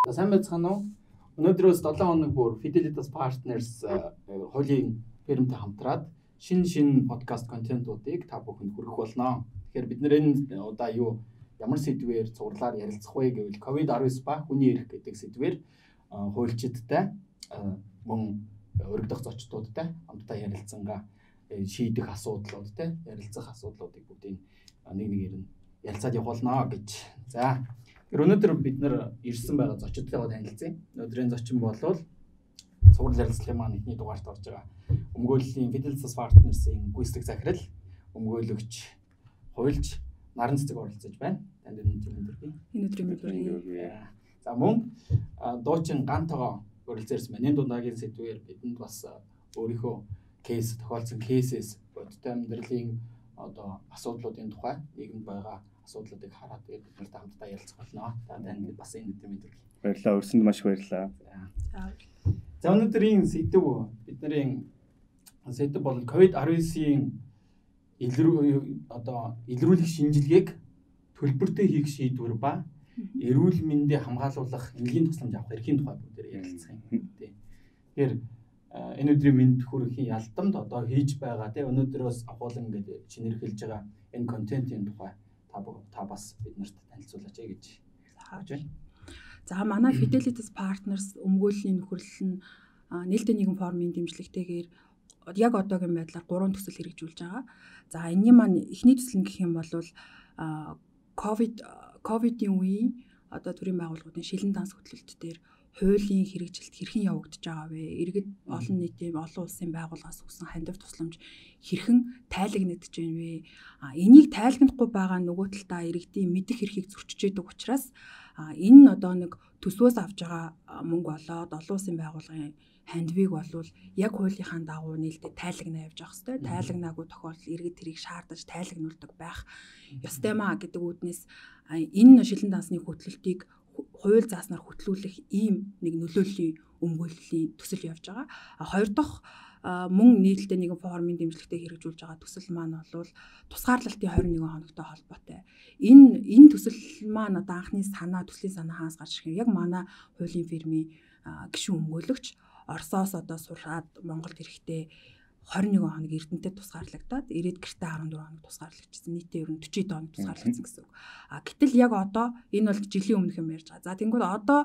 За сайн байцгаана уу? Өнөөдрөөс 7 хоног бүр Fidelitas Partners хуулийн фирмтэй хамтраад шинэ подкаст контентуудыг та бүхэнд хүргэх болно. Тэгэхээр бид нэр удаа ямар сэдвээр цуглаар ярилцах вэ гэвэл COVID-19 ба хүний эрх гэдэг сэдвээр хуульчидтай мөн өргөдөх зочдуудтай хамтдаа ярилцсангаа шийдэх асуудлуудтай ярилцах асуудлуудыг бүгдийг нэг нэгээр нь ярилцаад явуулнаа гэж. За өнөөдөр бид нар ирсэн байгаа зочдтойгоо танилцъя. Өнөөдрийн зочин болвол цуглал ярилцлагын маань эхний дугаарт орж байгаа. Өмгөөллийн Fidelitas Partners-ийн гүйцэтгэх захирал, өмгөөлөгч, хуульч Наран цэцэг оролцож байна. Танд өнөөдрийн За мөн дуучин Гантогоо өрөлцөөрсөн байна. Энэ дундагийн сэдвээр бидэнд бас өөрийнхөө кейс тохиолдсон кейсээс бодтой амьдралын асуудлуудын тухай нийгэмд байгаа асуудлуудыг хараад бид нартай хамтдаа ярилцах болно. За танд бас энэ мэдрэмж. Баярлалаа. Өрсөнд маш баярлалаа. За өнөөдрийн сэдв бидний сэдв бол COVID-19-ийн илрүүлэх шинжилгээг төлбөртэй хийх шийдвэр ба эрүүл мэндийг хамгаалуулах энгийн тусламж авах эрхийн тухай бүгдээр ярилцах юм. Тэгэхээр энэ өдрийн мэнд хүргэхийн ялдамд хийж байгаа өнөөдрөөс агуулan гэдэг шинэрхэлж байгаа энэ контентын тухай та бас бид нарт танилцуулаач гэж хааж байна. За манай Fidelitas Partners өмгөөллийн нөхөрлөл нь нээлттэй нийгэм форумын дэмжлэгтэйгээр яг одоогийн байдлаар 3 төсөл хэрэгжүүлж байгаа. За энэний маань эхний төсөл нь гэх юм бол ковидын үеийн төрийн байгууллагуудын шилэн данс хөтлөлт дээр хуулийн хэрэгжилт хэрхэн явагдаж байгаа вэ? Иргэд олон нийтийн олон улсын байгууллагаас өгсөн хандив тусламж хэрхэн тайлагнагдж байна вэ? Энийг тайлагнахгүй байгаа нөгөө талдаа иргэдийн мэдэх эрхийг зөрчиж яадаг учраас энэ нэг төсвөөс авж байгаа мөнгө болоод олон улсын байгууллагын хандивыг болвол яг хуулийнхаа дагуу нээлттэй тайлагнаа явж явах хэрэгтэй. Тайлагнаагүй тохиолдолд иргэд тэрийг шаардаж тайлагнуулдаг байх ёстой маа гэдэг үүднээс энэ шилэн дансны хөтлөлтийг хууль зааснаар хөтлүүлэх ийм нэг нөлөөллийн өмгөөллийн төсөл явж байгаа. Хоёр дахь мөн нийтлэлтэй нэгэн форумын дэмжлэгтэй хэрэгжүүлж байгаа төсөл маань бол тусгаарлалтын 21 хоногтой холбоотой. Энэ төсөл маань анхны төслийн санаа хаас гарч ирэх юм. Яг манай хуулийн фирмийн гишүүн өмгөөлөгч Оросоос сураад Монголд ирэхдээ 21 хоног Эрдэнэтэд тусгаарлагдаад ирээд гэртээ 14 хоног тусгаарлагдчихсан. Нийтдээ ер нь 40 хоног тусгаарлагдсан гэсэн үг. Гэтэл яг одоо энэ бол жилийн өмнөх юм ярьж байгаа. За тэгвэл одоо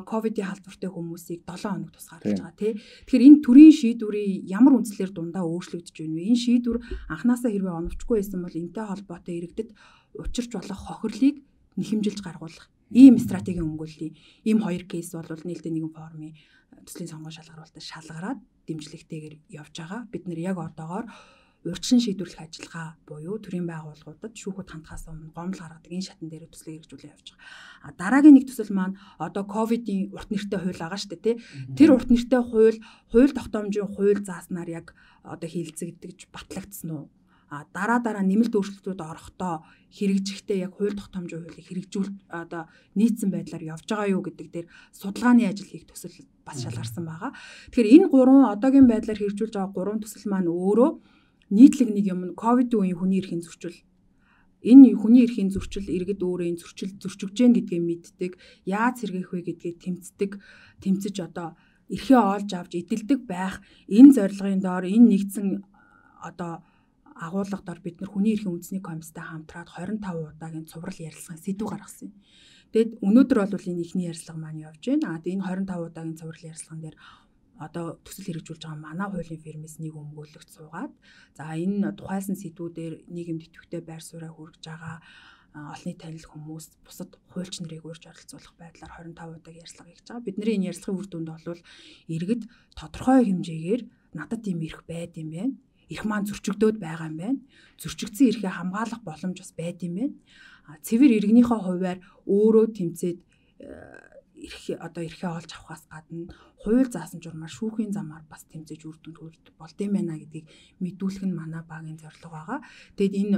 ковидын халдвартай хүмүүсийг 7 хоног тусгаарлаж байгаа тий. Тэгэхээр энэ төрлийн шийдвэрийн ямар үндслээр дундаа өөрчлөгдөж байна вэ? Энэ шийдвэр анханасаа хэрвээ оновчгүй байсан бол энэтэй холбоотой иргэдэд учирч болох хохирлыг нэхэмжилж гаргуулах ийм стратегийн өмгөөллийн ийм хоёр кейс бол нээлттэй нэгэн форумын төслийн сонгон шалгаруулалтад шалгараад дэмжлэгтэйгээр явж байгаа. Бид нэр яг одоогоор урьдчилан шийдвэрлэх ажиллагаа буюу төрийн байгууллагуудад шүүхэд хандхаас өмнө гомдол гаргадаг энэ шатан дээр төслийг хэрэгжүүлээ явж байгаа. Дараагийн нэг төсөл маань ковидын урт нэртэй хууль байгаа шүү дээ тий. Тэр урт нэртэй хууль тогтоомжийн хууль зааснаар яг хилцэгдэж батлагдсан уу? Дараа нэмэлт өөрчлөлтүүд орохдоо хэрэгжихдээ яг хууль тогтоомжийн хуулийг хэрэгжүүл нийцсэн байдлаар явж байгаа юу гэдэг дээр судалгааны ажил хийх төсөл бас шалгарсан байгаа. Тэгэхээр энэ 3 одоогийн байдлаар хэрэгжүүлж байгаа 3 төсөл маань өөрөө нийтлэг нэг юм ковидын үеийн хүний эрхийн зөрчил. Энэ хүний эрхийн зөрчил иргэд өөрөө энэ зөрчигж гэн гэдгээ мэддэг, яаж сэргээх вэ гэдгээ тэмцэж эрхээ олж авч эдэлдэг байх энэ зорилгын доор энэ нэгдсэн агуулгадаар бид нар хүний эрхийн үндэсний комисстай хамтраад 25 удаагийн цуврал ярилцлагын сэдв гаргасан юм. Тэгэд өнөөдөр бол энэ ихний ярилцлага маань явж байна. Энэ 25 удаагийн цуврал ярилцлаган дээр төсөл хэрэгжүүлж байгаа манай хуулийн фирмээс нэг өмгөөлөгч суугаад энэ тухайлсан сэдвүүдээр нийгэмд идэвхтэй байр сууриа хүргэж байгаа олонний танил хүмүүс бусад хуульч нарыг урьж оролцуулах байдлаар 25 удаагийн ярилцлага хийж байгаа. Бидний энэ ярилцлагын үр дүнд бол иргэд тодорхой хэмжээгээр надад ийм эрх байд юм байна. Эрх маань зөрчигдөөд байгаа юм байна. Зөрчигдсөн эрхээ хамгаалах боломж бас байд юм байна. Цэвэр иргэнийхээ хувьар өөрөө тэмцээд эрхээ олж авахаас гадна хууль заасан журмаар шүүхийн замаар бас тэмцэж үр дүнд хүрэх болд юм байна гэдгийг мэдүүлэх нь манай багийн зорилго байгаа. Тэгэд энэ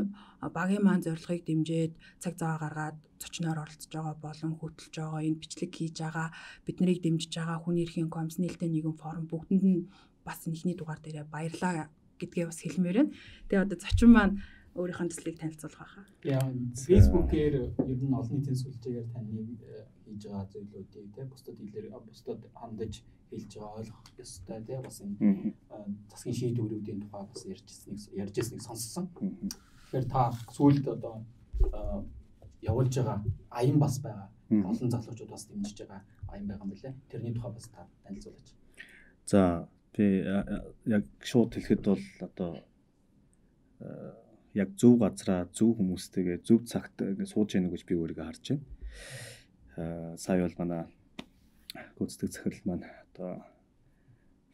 багийн маань зорилгыг дэмжиж цаг зав гаргаад зочноор оролцож байгаа болон хөтлөж байгаа энэ бичлэг хийж байгаа бид нарыг дэмжиж байгаа хүний эрхийн комисс нээлттэй нийгэм форум бүгдэнд нь бас эхний дугаар дээр баярлалаа гэдгээ бас хэлмээр байна. Тэгээ зочин маань өөрийнхөө төслийг танилцуулах байхаа. Яа, Facebook-ээр ер нь олон нийтийн сүлжээгээр таныг хийж байгаа зүйлүүдийг тий бусдад хандаж хэлж байгаа ойлгох ёстой тий бас энэ засгийн шийдвэрүүдийн тухай бас ярьжсэнийг сонссон. Тэгэхээр та сүүлд одоо явуулж байгаа аян бас байгаа. Олон залуучууд бас дэмжиж байгаа аян байгаа юм билээ. Тэрний тухай бас та танилцуулаач. За би яг шууд хэлэхэд бол одоо яг зөв газраа зөв хүмүүстэйгээ зөв цагт ингэ сууж яах гэж би өөрийгөө харж байна. Сая бол манай гүйцэтгэх захирал маань одоо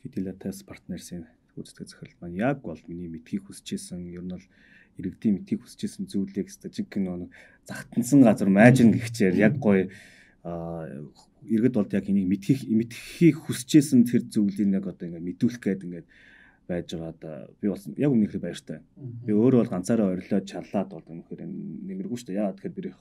Fidelitas Partners-ийн гүйцэтгэх захирал маань яг бол миний мэдхийг хүсэжсэн ер нь бол иргэдийн мэдхийг хүсэжсэн зүйлийг статистик нэг загтансан газар майжин гихчээр яг гоё иргэд бол яг энийг мэдхийг хүсэжсэн тэр зүйлийг яг одоо ингэ мэдүүлэх гээд ингээд байж байгаад би бас яг үнэхээр баяртай. Би өөрөө бол ганцаараа орилоод чарлаад бол үнэхээр нэмэргүй шүү дээ. Яагаад тэгэхээр би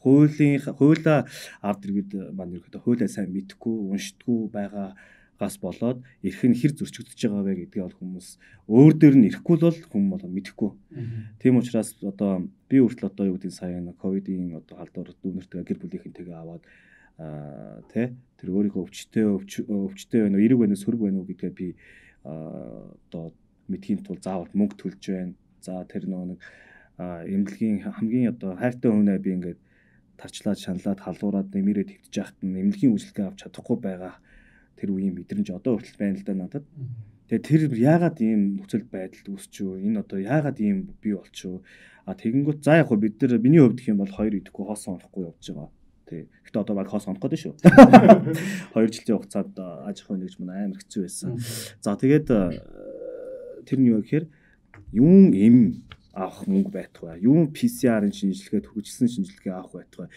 хуулаа ард иргэд маань ерөөдөө хуулаа сайн мэдхгүй, уншдаггүй байгаагаас болоод эрх нь хэр зөрчигдөж байгаа вэ гэдгийг бол хүмүүс өөр дээр нь ирэхгүй бол хүмүүс бол мэдэхгүй. Тийм учраас одоо би хүртэл одоо юу гэдэг сая ковидын одоо халдвар дүүнэртэйгээ гэр бүлийнхэнтэйгээ аваад тэр өөрийнхөө өвчтөй байна уу, эрэг байна уу, сөрөг байна уу гэдгээ би одоо мэдхийн тул заавал мөнгө төлж байна. За тэр нэг эмнэлгийн хамгийн одоо хайртай хүнээ би ингээд тарчлаад шаналаад халуураад нэмэрээ твтж яхад нь эмнэлгийн үйлчлэгээ авч чадахгүй байгаа тэр үеийн мэдрэмж одоо хүртэл байна л да надад. Тэгээ тэр яагаад ийм нөхцөл байдалд үүсчихв? Энэ одоо яагаад ийм бий болчихв? Тэгэнгүүт за яг хөө бид нар миний хувьд гэх юм бол 2 идэхгүй хоосон онохгүй явж байгаа. Гэхдээ одоо баг хоос онох гэдэг шүү. 2 жилийн хугацаанд аж ахуйн нэгж манай амар хэцүү байсан. За тэгээд тэр нь юу гэхээр юун эм авах мөнгө байтугай, юун PCR-ын шинжилгээ төгсгсөн шинжилгээ авах байтугай.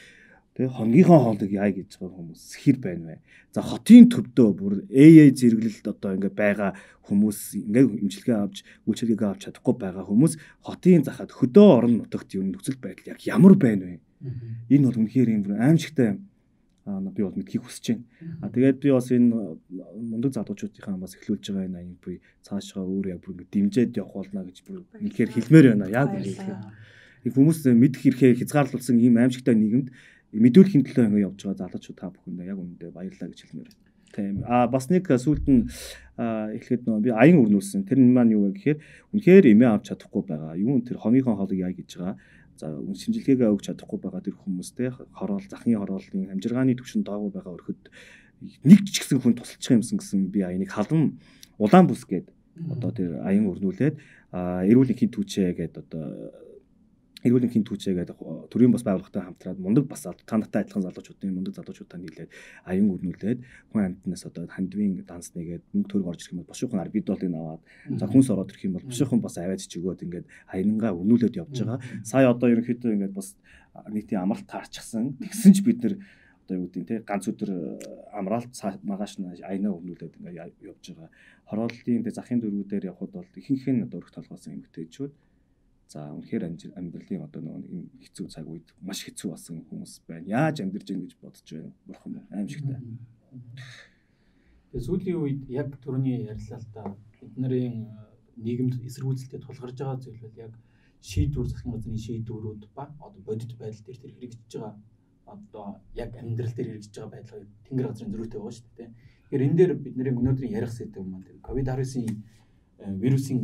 Тэгээ хонгийнхоо хоолыг яа гэж байгаа хүмүүс хэр байна вэ? За хотын төвдөө бүр AA зэрэглэлд одоо ингээ байгаа хүмүүс ингээ имчилгээ авч үйлчилгээгээ авч чадахгүй байгаа хүмүүс хотын захад хөдөө орон нутагт юу нөхцөл байдал яг ямар байна вэ? Энэ бол үнэхээр юм аимшигтай би бол мэдхийг хүсэж байна. Тэгээд би бас энэ мундаг залуучуудынхаа бас эхлүүлж байгаа энэ аян буй цаашгаа өөр яг бүр ингэ дэмжиж явах болно гэж бүр үнэхээр хэлмээр байна. Яг үнэхээр хүмүүс мэдэх хэрэг хязгаарлуулсан ийм аимшигтай нийгэмд мэдүүлэхийн төлөө ингэ явж байгаа залуучууд та бүхэнд яг үнэндээ баярлалаа гэж хэлмээр байна. Тийм. Бас нэг сүүлд нь эхлэхэд би аян өрнүүлсэн. Тэр нь маань юу вэ гэхээр үнэхээр эмээ авч чадахгүй байгаа. Юу тэр хоньгийн хоолыг яа гэж байгаа. За шинжилгээгээ өгч чадахгүй байгаа тэр хүмүүстэй хороол захын хорооллын амжиргааны түвшин доогуур байгаа өрхөд нэг ч гэсэн хүн тусалчих юмсан гэсэн би аяныг халдан улаан бүс гээд одоо тэр аян өрнүүлээд эрүүл энхийн түүчээ гээд одоо эрүүл энхийн түүчээ гээд төрийн бас байгууллагатай хамтраад мундаг бас та нартай адилхан залуучуудын мундаг залуучуудаа нийлээд аян өрнүүлээд хүн амьтнаас одоо хандвийн данс нэгээд мөнгө төгрөг орж ирэх юм бол бошуухан арбидолыг аваад за хүнс ороод ирэх юм бол бошуухан бас аваад ч өгөөд ингээд аянгаа өрнүүлээд явж байгаа. Сая одоо ерөнхийдөө ингээд бас нийтийн амралт таарчихсан. Тэгсэн ч бид нэр одоо юу гэдэг те ганц өдөр амраалт магаш нь аянаа өрнүүлээд ингээд явж байгаа. Хорооллын захын дөрвүүдээр явхад бол ихэнх нь одоо өрх толгойсон эмэгтэйчүүд. За үнэхээр амьдралын одоо нэг хэцүү цаг үед маш хэцүү болсон хүмүүс байна. Яаж амьдарч ийн гэж бодож байна. Бурхан аимшигтай. Тэгээ сүүлийн үед яг түрүүний ярьлаа л да бидний нийгэмд эсэргүүцэлтэд тулгарч байгаа зүйл бол яг шийдвэр засгийн газрын шийдвэрүүд ба одоо бодит байдал дээр тэр хэрэгжиж байгаа одоо яг амьдрал дээр хэрэгжиж байгаа байдлыг тэнгэр газрын зөрүүтэй байгаа шүү дээ. Тэгэхээр энэ дээр бидний өнөөдрийн ярих сэдв юм байна. COVID-19 вирусын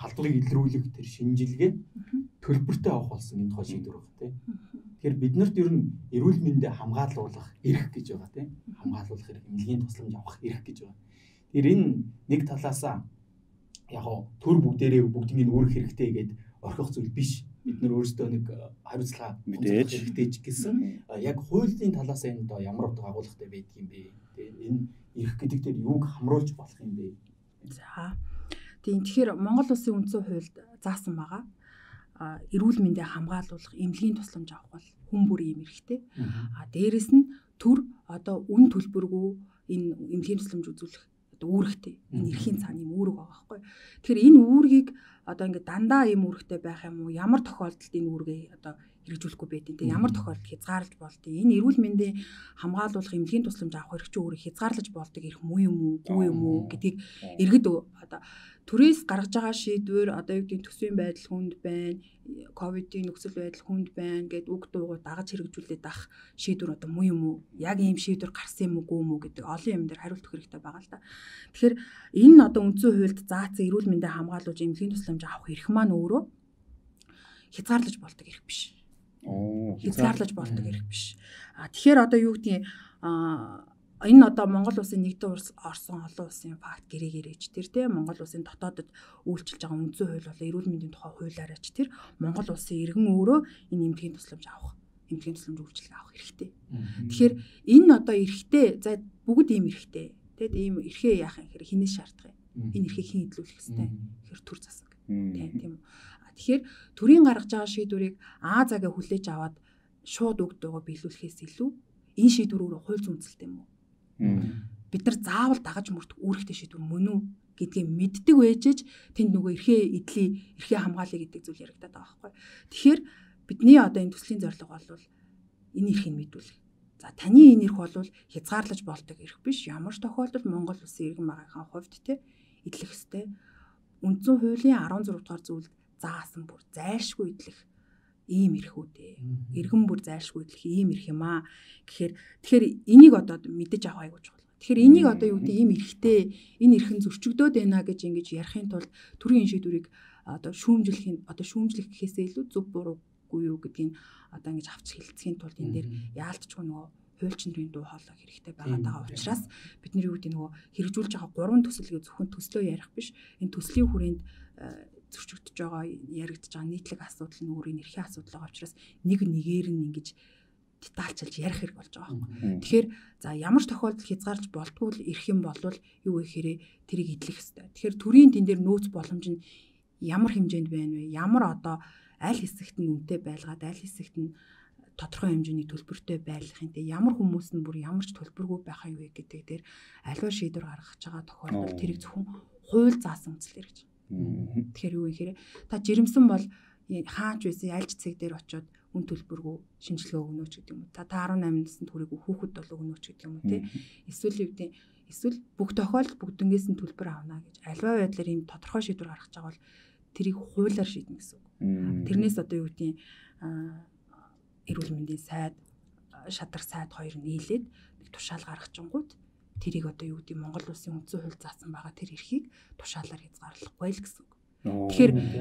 халдварыг илрүүлэх тэр шинжилгээ төлбөртэй авах болсон энэ тухай шийдвэр байна тийм. Тэгэхээр биднэрт ер нь эрүүл мэндэд хамгаалуулах эрх гэж байгаа тийм. Хамгаалуулах эрх, эмнэлгийн тусламж авах эрх гэж байгаа. Тэгэхээр энэ нэг талаасаа яг төр бүгдийн үүрэх хэрэгтэй гэдэг орхих зүйл биш. Бид нар өөрсдөө нэг хариуцлага мэдээж хэрэгтэй ч гэсэн яг хуулийн талаас энэ доо ямар утга агуулгатай байдаг юм бэ? Тэгээ энэ эрх гэдэг дээр юуг хамруулж болох юм бэ? За тэгэхээр Монгол Улсын үндсэн хуульд заасан байгаа. Эрүүл мэндийг хамгаалуулах, эмнэлгийн тусламж авах бол хүн бүрийн юм эрхтэй. Дээрэс нь төр одоо үн төлбөргүй энэ эмнэлгийн тусламж үзүүлэх одоо үүрэгтэй. Энэ эрхийн цааны юм үүрэг байгаа байхгүй. Тэгэхээр энэ үүргийг одоо ингээд дандаа ийм үүрэгтэй байх юм уу? Ямар тохиолдолд энэ үүргээ одоо хэрэгжүүлэхгүй байдیں۔ Тэг ямар тохиолдолд хязгаарлаж болдгийг энэ эрүүл мэндийн хамгаалуулах эмнэлгийн тусламж авах хэрэгч өөрөө хязгаарлаж болдог ирэх муу юм уу, үгүй юм уу гэдгийг иргэд одоо төрөөс гаргаж байгаа шийдвэр одоо юу гэдэг төсвийн байдал хүнд байна, ковидын нөхцөл байдал хүнд байна гэд үг дуугууд дагаж хэрэгжүүлээд ах шийдвэр одоо муу юм уу, яг ийм шийдвэр гарсан юм уу гэдэг олон юм дээр хариулт өгөх хэрэгтэй байгаа л да. Тэгэхээр энэ одоо үндсэн хуульд заасан эрүүл мэндийн хамгаалуулж эмнэлгийн тусламж авах эрх маань өөрөө хязгаарлаж болдог эрх биш. Хязгаарлаж болдог эрх биш. Тэгэхээр одоо юу гэдгийг энэ одоо Монгол улсын нэгдсэн орсон олон улсын факт гэрээч тэр тийм Монгол улсын дотоодод үйлчилж байгаа үндсэн хууль бол эрүүл мэндийн тухай хуулиараач тэр Монгол улсын иргэн өөрөө энэ эмнэлгийн тусламж авах, эмнэлгийн тусламж үйлчилгээ авах хэрэгтэй. Тэгэхээр энэ одоо эрхтэй за бүгд ийм эрхтэй тийм ийм эрхээ яах юм хэрэг хинээс шаардах юм. Энэ эрхийг хэн идэлүүлэх хэвтэй. Тэгэхээр төр засаг. Тийм. Тэгэхээр төрийн гаргаж байгаа шийдвэрийг заага хүлээж аваад шууд өгд байгаа биелүүлэхээс илүү энэ шийдвэр өөрөө хууль зүйнсэлтэй юм уу? Бид нар заавал дагаж мөрдөх үүрэгтэй шийдвэр мөн үү гэдгийг мэддэг байжээж тэнд нөгөө эрхээ хамгаалъя гэдэг зүйл яригадаад байгаа байхгүй. Тэгэхээр бидний одоо энэ төслийн зорилго бол энэ эрхийг мэдүүлэх. За таны энэ эрх бол хязгаарлаж болдог эрх биш. Ямар ч тохиолдолд Монгол улсын иргэн байгийнхаа хувьд те идэлх ёстой. Үндсэн хуулийн 16 дугаар зүйлд заасан бүр зайлшгүй идэлх ийм эрх үүдээ. Иргэн бүр зайлшгүй идэлх ийм эрх юм аа. Тэгэхээр энийг одоо мэдэж авах айгууч болно. Тэгэхээр энийг одоо юу гэдэг ийм эрхтэй энэ эрхэн зөрчигдөөд байна гэж ингэж ярихын тулд төрийн шийдвэрийг одоо шүүмжлэх гэхээсээ илүү зөв буруугүй юу гэдгийг одоо ингэж авч хэлцхийн тулд энэ дээр яалтчгүй нөгөө хуульч нарын дуу хоолой хэрэгтэй байгаа учраас бид нар юу гэдэг нөгөө хэрэгжүүлж байгаа 3 төсөлийг зөвхөн төслөө ярих биш энэ төслийн хүрээнд зөрчигдөж байгаа яригдж байгаа нийтлэг асуудал нь өөрийн эрхийн асуудал байгаа учраас нэг нэгээр нь ингэж детальчилж ярих хэрэг болж байгаа юм. Тэгэхээр за ямар ч тохиолдолд хязгаарлаж болтгүй л эрх юм болвол юу гэхээр тэрийг идэлэх ёстой. Тэгэхээр төрийн тэн дээр нөөц боломж нь ямар хэмжээнд байна вэ? Ямар одоо аль хэсэгт нь үнэтэй байлгаад аль хэсэгт нь тодорхой хэмжээний төлбөртэй байлгахын те ямар хүмүүс нь бүр ямар ч төлбөргүй байх юм вэ гэдэг дээр аливаа шийдвэр гаргаж байгаа тохиолдолд тэрийг зөвхөн хууль заасан үзлэр гэж. Тэгэхээр юу гэхээр та жирэмсэн бол хаач байсан альж цэг дээр очиод үн төлбөргүй шинжилгээ өгнө ч гэдэг юм уу. Та 18 насны төрийг хүүхэд бол өгнө ч гэдэг юм уу те. Эсвэл бүх тохиолдолд бүгднгээс нь төлбөр авна гэж аливаа байдлаар ийм тодорхой шийдвэр гаргаж байгаа бол тэрийг хуулиар шийднэ гэсэн үг. Тэрнээс одоо юу гэдгийг эрүүл мэндийн сайд, шадар сайд хоёр нийлээд нэг тушаал гаргачингууд тэрийг одоо юу гэдэг Монгол улсын үндсэн хууль заасан байгаа тэр эрхийг тушаалаар хязгаарлахгүй л гэсэн үг.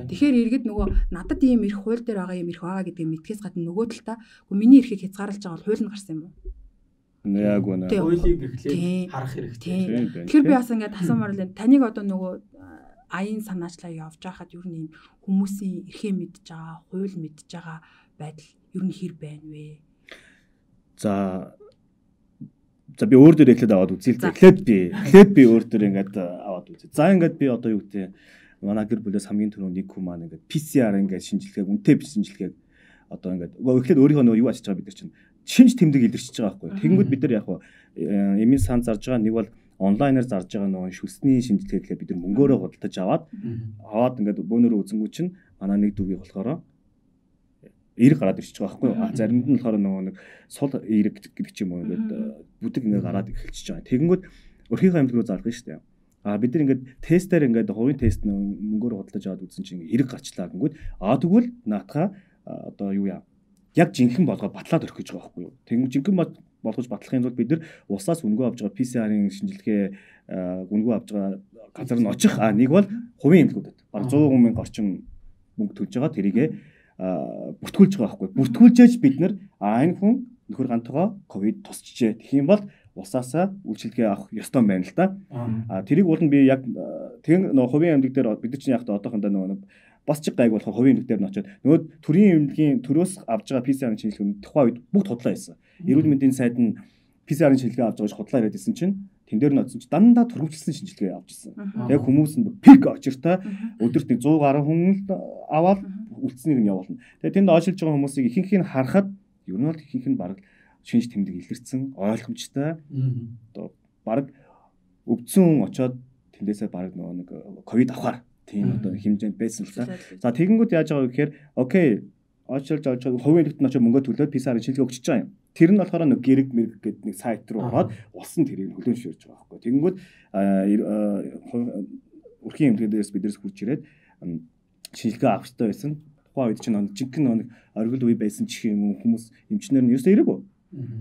Тэгэхээр иргэд нөгөө надад ийм эрх хууль дээр байгаа юм эрх байгаа гэдгийг мэдхээс гадна нөгөө талдаа миний эрхийг хязгаарлаж байгаа бол хууль нь гарсан юм уу? Яг үнэ. Хуулийг эхлээд харах хэрэгтэй. Тэгэхээр би бас ингээд асуумаар л таныг одоо нөгөө аян санаачлаа явж байхад ер нь ийм хүмүүсийн эрхээ мэдж байгаа, хууль мэдж байгаа байдал ер нь хэр байна вэ? За би өөр дөр эхлээд аваад үзье л. Эхлээд би өөр дөр ингээд аваад үзье. За ингээд би одоо юу гэдэг манай гэр бүлээс хамгийн түрүүнд нэг хүн маань ингээд PCR ингээд шинжилгээг үнэтэй шинжилгээг одоо ингээд эхлээд өөрийнхөө нөгөө юу ачиж байгаа бид нар чинь шинж тэмдэг илэрчиж байгаа байхгүй. Тэгэнгүүт бид нар яг эмийн сан зарж байгаа нэг бол онлайнаар зарж байгаа нөгөө шүлсний шинжилгээгээ бид нар мөнгөөрөө худалдаж аваад ингээд бөөнөрөө үзэнгүү чинь манай нэг дүүгийн болохоор эрг гараад ирчихэж байгаа байхгүй. Заримд нь болохоор нөгөө нэг сул эрг гэдэг ч юм уу ингээд бүдэг ингээд гараад эхэлчихэж байгаа. Тэгэнгүүт өрхийнхөө амьд руу зарах нь шүү дээ. Бид нар ингээд тестээр ингээд хувийн тест мөнгөөр худалдаж аваад үзсэн чинь эрг гарчлаа гингүүд тэгвэл наатахаа одоо юу яа яг жинхэнэ болгоод батлаад өрөх гэж байгаа байхгүй юу. Тэгвэл жинхэнэ болгож батлахын тулд бид нар усаас үнгөө авч байгаа PCR-ын шинжилгээ үнгөө авч байгаа газар нь очих нэг бол хувийн эмнэлгүүдэд бараг 100 мянган орчим мөнгө төлж байгаа тэрийгэ бүртгүүлж байгаа байхгүй. Бүртгүүлжээж бид нар энэ хүн нөхөр гантойгоо ковид тусчжээ. Тэгэх юм бол усаасаа үйлчилгээ авах ёстой байна л да. Тэрийг уул нь би яг тэгэн нөгөө хувийн эмнэлэг дээр бид нар чинь яг одоохондоо нөгөө бас чиг гайг болох хувийн эмнэлэг дээр нь очиод нөгөө төрийн эмнэлгийн төрөөс авж байгаа PCR-ын шинжилгээ тухайн үед бүгд худлаа хийсэн. Эрүүл мэндийн сайд нь PCR-ын шинжилгээ авч байгаа худлаа яриад ирсэн чинь тэн дээр нь очсон чинь дандаа төрөвчлсэн шинжилгээ авч ирсэн. Яг хүмүүс нь пик очиртай өдөрт 100 гаруй хүн аваад үлдсэнийг нь явуулна. Тэгээ тэнд очилж байгаа хүмүүсийг ихэнхийг нь харахад ер нь бол ихэнх нь бараг шинж тэмдэг илэрсэн, ойлгомжтой. Одоо бараг өвдсөн очоод тэндээсээ бараг нөгөө нэг ковид авахар тийм одоо хэмжээнд байсан л да. За тэгэнгүүт яаж байгаа вэ гэхээр окей очилж хувийн нэгт нь очиж мөнгө төлөөд PCR-ын шинжилгээ өгч байгаа юм. Тэр нь болохоор нэг гэрэг мэрэг гэдэг нэг сайт руу ороод улсын тэрийг хөлөөн шүүрж байгаа байхгүй. Тэгэнгүүт өрхийн эмнэлгээс биднээс хурж ирээд шинжилгээ авах хэрэгтэй байсан. Тухайн үед чинь жинхэнэ оргил үе байсан ч юм уу хүмүүс эмчнэр нь ерөөсөө ирээгүй.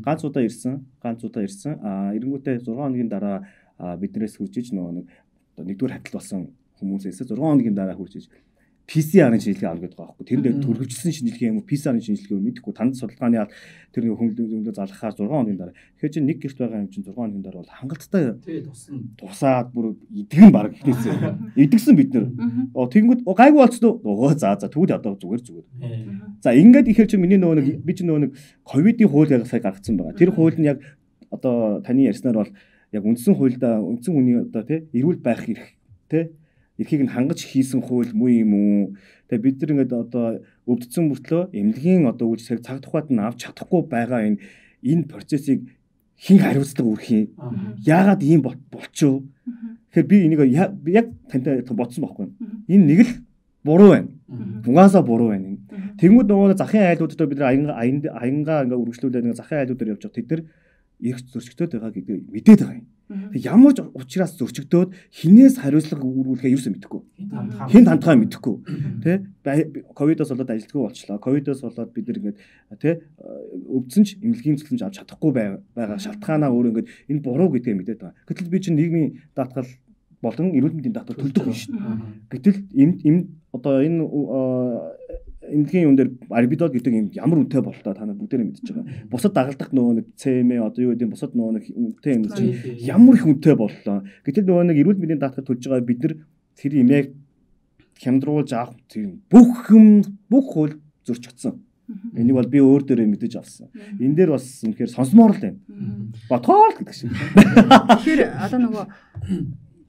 Ганц удаа ирсэн. Эрэнгүүтээ 6 хоногийн дараа биднээс хурж иж нөгөө нэгдүгээр хатал болсон хүмүүсээс 6 хоногийн дараа хурж иж PCR-ын шинжилгээ авах гэдэг байгаа байхгүй. Тэр дээр төрөвчлсөн шинжилгээ юм уу, PCR-ын шинжилгээ юм мэдэхгүй. Танд судалгааны тэр хөнгөлөлтөд залгахаар 6 хоногийн дараа. Тэгэхээр чинь нэг гэрт байгаа юм чинь 6 хоногийн дараа бол хангалттай тусаад бүр идэгэн баг ихнээсээ. Идэгсэн бид нэр. Тэгэнгүүт гайгүй болцсон уу? За тэгвэл одоо зүгээр. За ингээд ихэр чинь миний нөгөө би чинь нөгөө ковидын хууль сая гаргацсан байгаа. Тэр хууль нь яг одоо таны ярьснаар бол яг үндсэн хуульда үндсэн хүний одоо тий эрүүл байх эрх тий эрхийг нь хангаж хийсэн хууль муу юм уу? Тэгээ бид нар ингээд одоо өвдсөн мөртлөө эмнэлгийн одоо үйлчлэг цаг тухайд нь авч чадахгүй байгаа энэ процессыг хэн хариуцлага өрөх юм? Яагаад ийм болчихв? Тэгэхээр би энийг яг тантай бодсон байхгүй. Энэ нэг л буруу байна. Угаасаа буруу байна. Тэнгүүд нөгөө захын айлуудад бид нар аянгаа ингээд үргэлжлүүлээд ингээд захын айлуудаар явж байгаа тэд нар эрх зөрчигдөд байгаа гэдэг мэдээд байгаа юм. Тэг ямар ч учраас зөрчигдөөд хинээс хариуцлага үүрүүлэхээ юусэн мэдэхгүй. Хин тантхаа мэдэхгүй. Тэ ковидоос болоод ажилтгүй болчлоо. Ковидоос болоод бид нар ингээд тэ өвдсөн ч эмнэлгийн зөвлөмж авч чадахгүй байгаа шалтгаанаа өөр ингээд энэ буруу гэдгээ мэдээд байгаа. Гэтэл би чинь нийгмийн даатгал болон эрүүл мэндийн даатгал төлдөг юм шин. Гэтэл одоо энэ эмнэлгийн юм дээр арбидол гэдэг юм ямар үнэтэй боллоо та нар бүгдээрээ мэдчихэж байгаа. Бусад дагалдах нөгөө нэг ЦМ одоо юу гэдэг бусад нөгөө нэг үнэтэй юм чинь ямар их үнэтэй боллоо. Гэтэл нөгөө нэг эрүүл мэндийн даатгал төлж байгаа бид нар тэр имийг хямдруулж авах тийм бүх хууль зөрчигдсөн. Энийг бол би өөр дээрээ мэдэж авсан. Энэ дээр бас үнэхээр сонсомоор л байна. Ботгоол гэдэг шиг. Тэгэхээр одоо нөгөө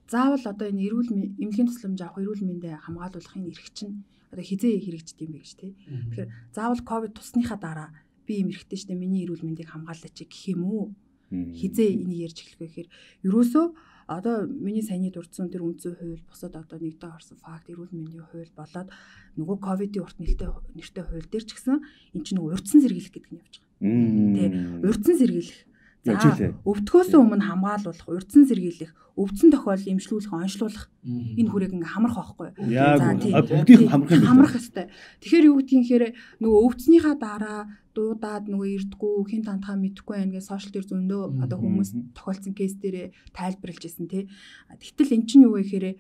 заавал одоо энэ эмнэлгийн тусламж авах эрүүл мэндэ хамгаалуулахын эрх чинь одоо хизээ хэрэгждэг юм бэ гэж тий. Тэгэхээр заавал ковид тусныхаа дараа би юм эрэхтэй штэ миний эрүүл мэндийг хамгаалаач гэх юм уу? Хизээ энийг ярьж эхлэх вэ гэхээр ерөөсөө одоо миний саяны дурдсан тэр үндсэн хууль бусад одоо нэгдээ орсон факт эрүүл мэндийн хууль болоод нөгөө ковидын урт нэртэй хууль дээр ч гэсэн эн чинь нөгөө урьдчилан сэргийлэх гэдэг нь явж байгаа. Тий. Урьдчилан сэргийлэх. За өвдөхөөс өмнө хамгаалуулах, урьдчилан сэргийлэх, өвдсөн тохиолдолд эмчлүүлэх, онцлуулах энэ хүрээг ингээ хамрах байхгүй. За бүгдийг хамрах ёстой. Тэгэхээр юу гэдгийг хэрэг нөгөө өвдснийхаа дараа дуудаад нөгөө ирдгүү хин тантхаа мэдэхгүй байна гэж сошиал дээр зөндөө одоо хүмүүс тохиолдсон кейс дээрээ тайлбарлаж ирсэн тий. Тэгтэл эн чинь юу вэ гэхээр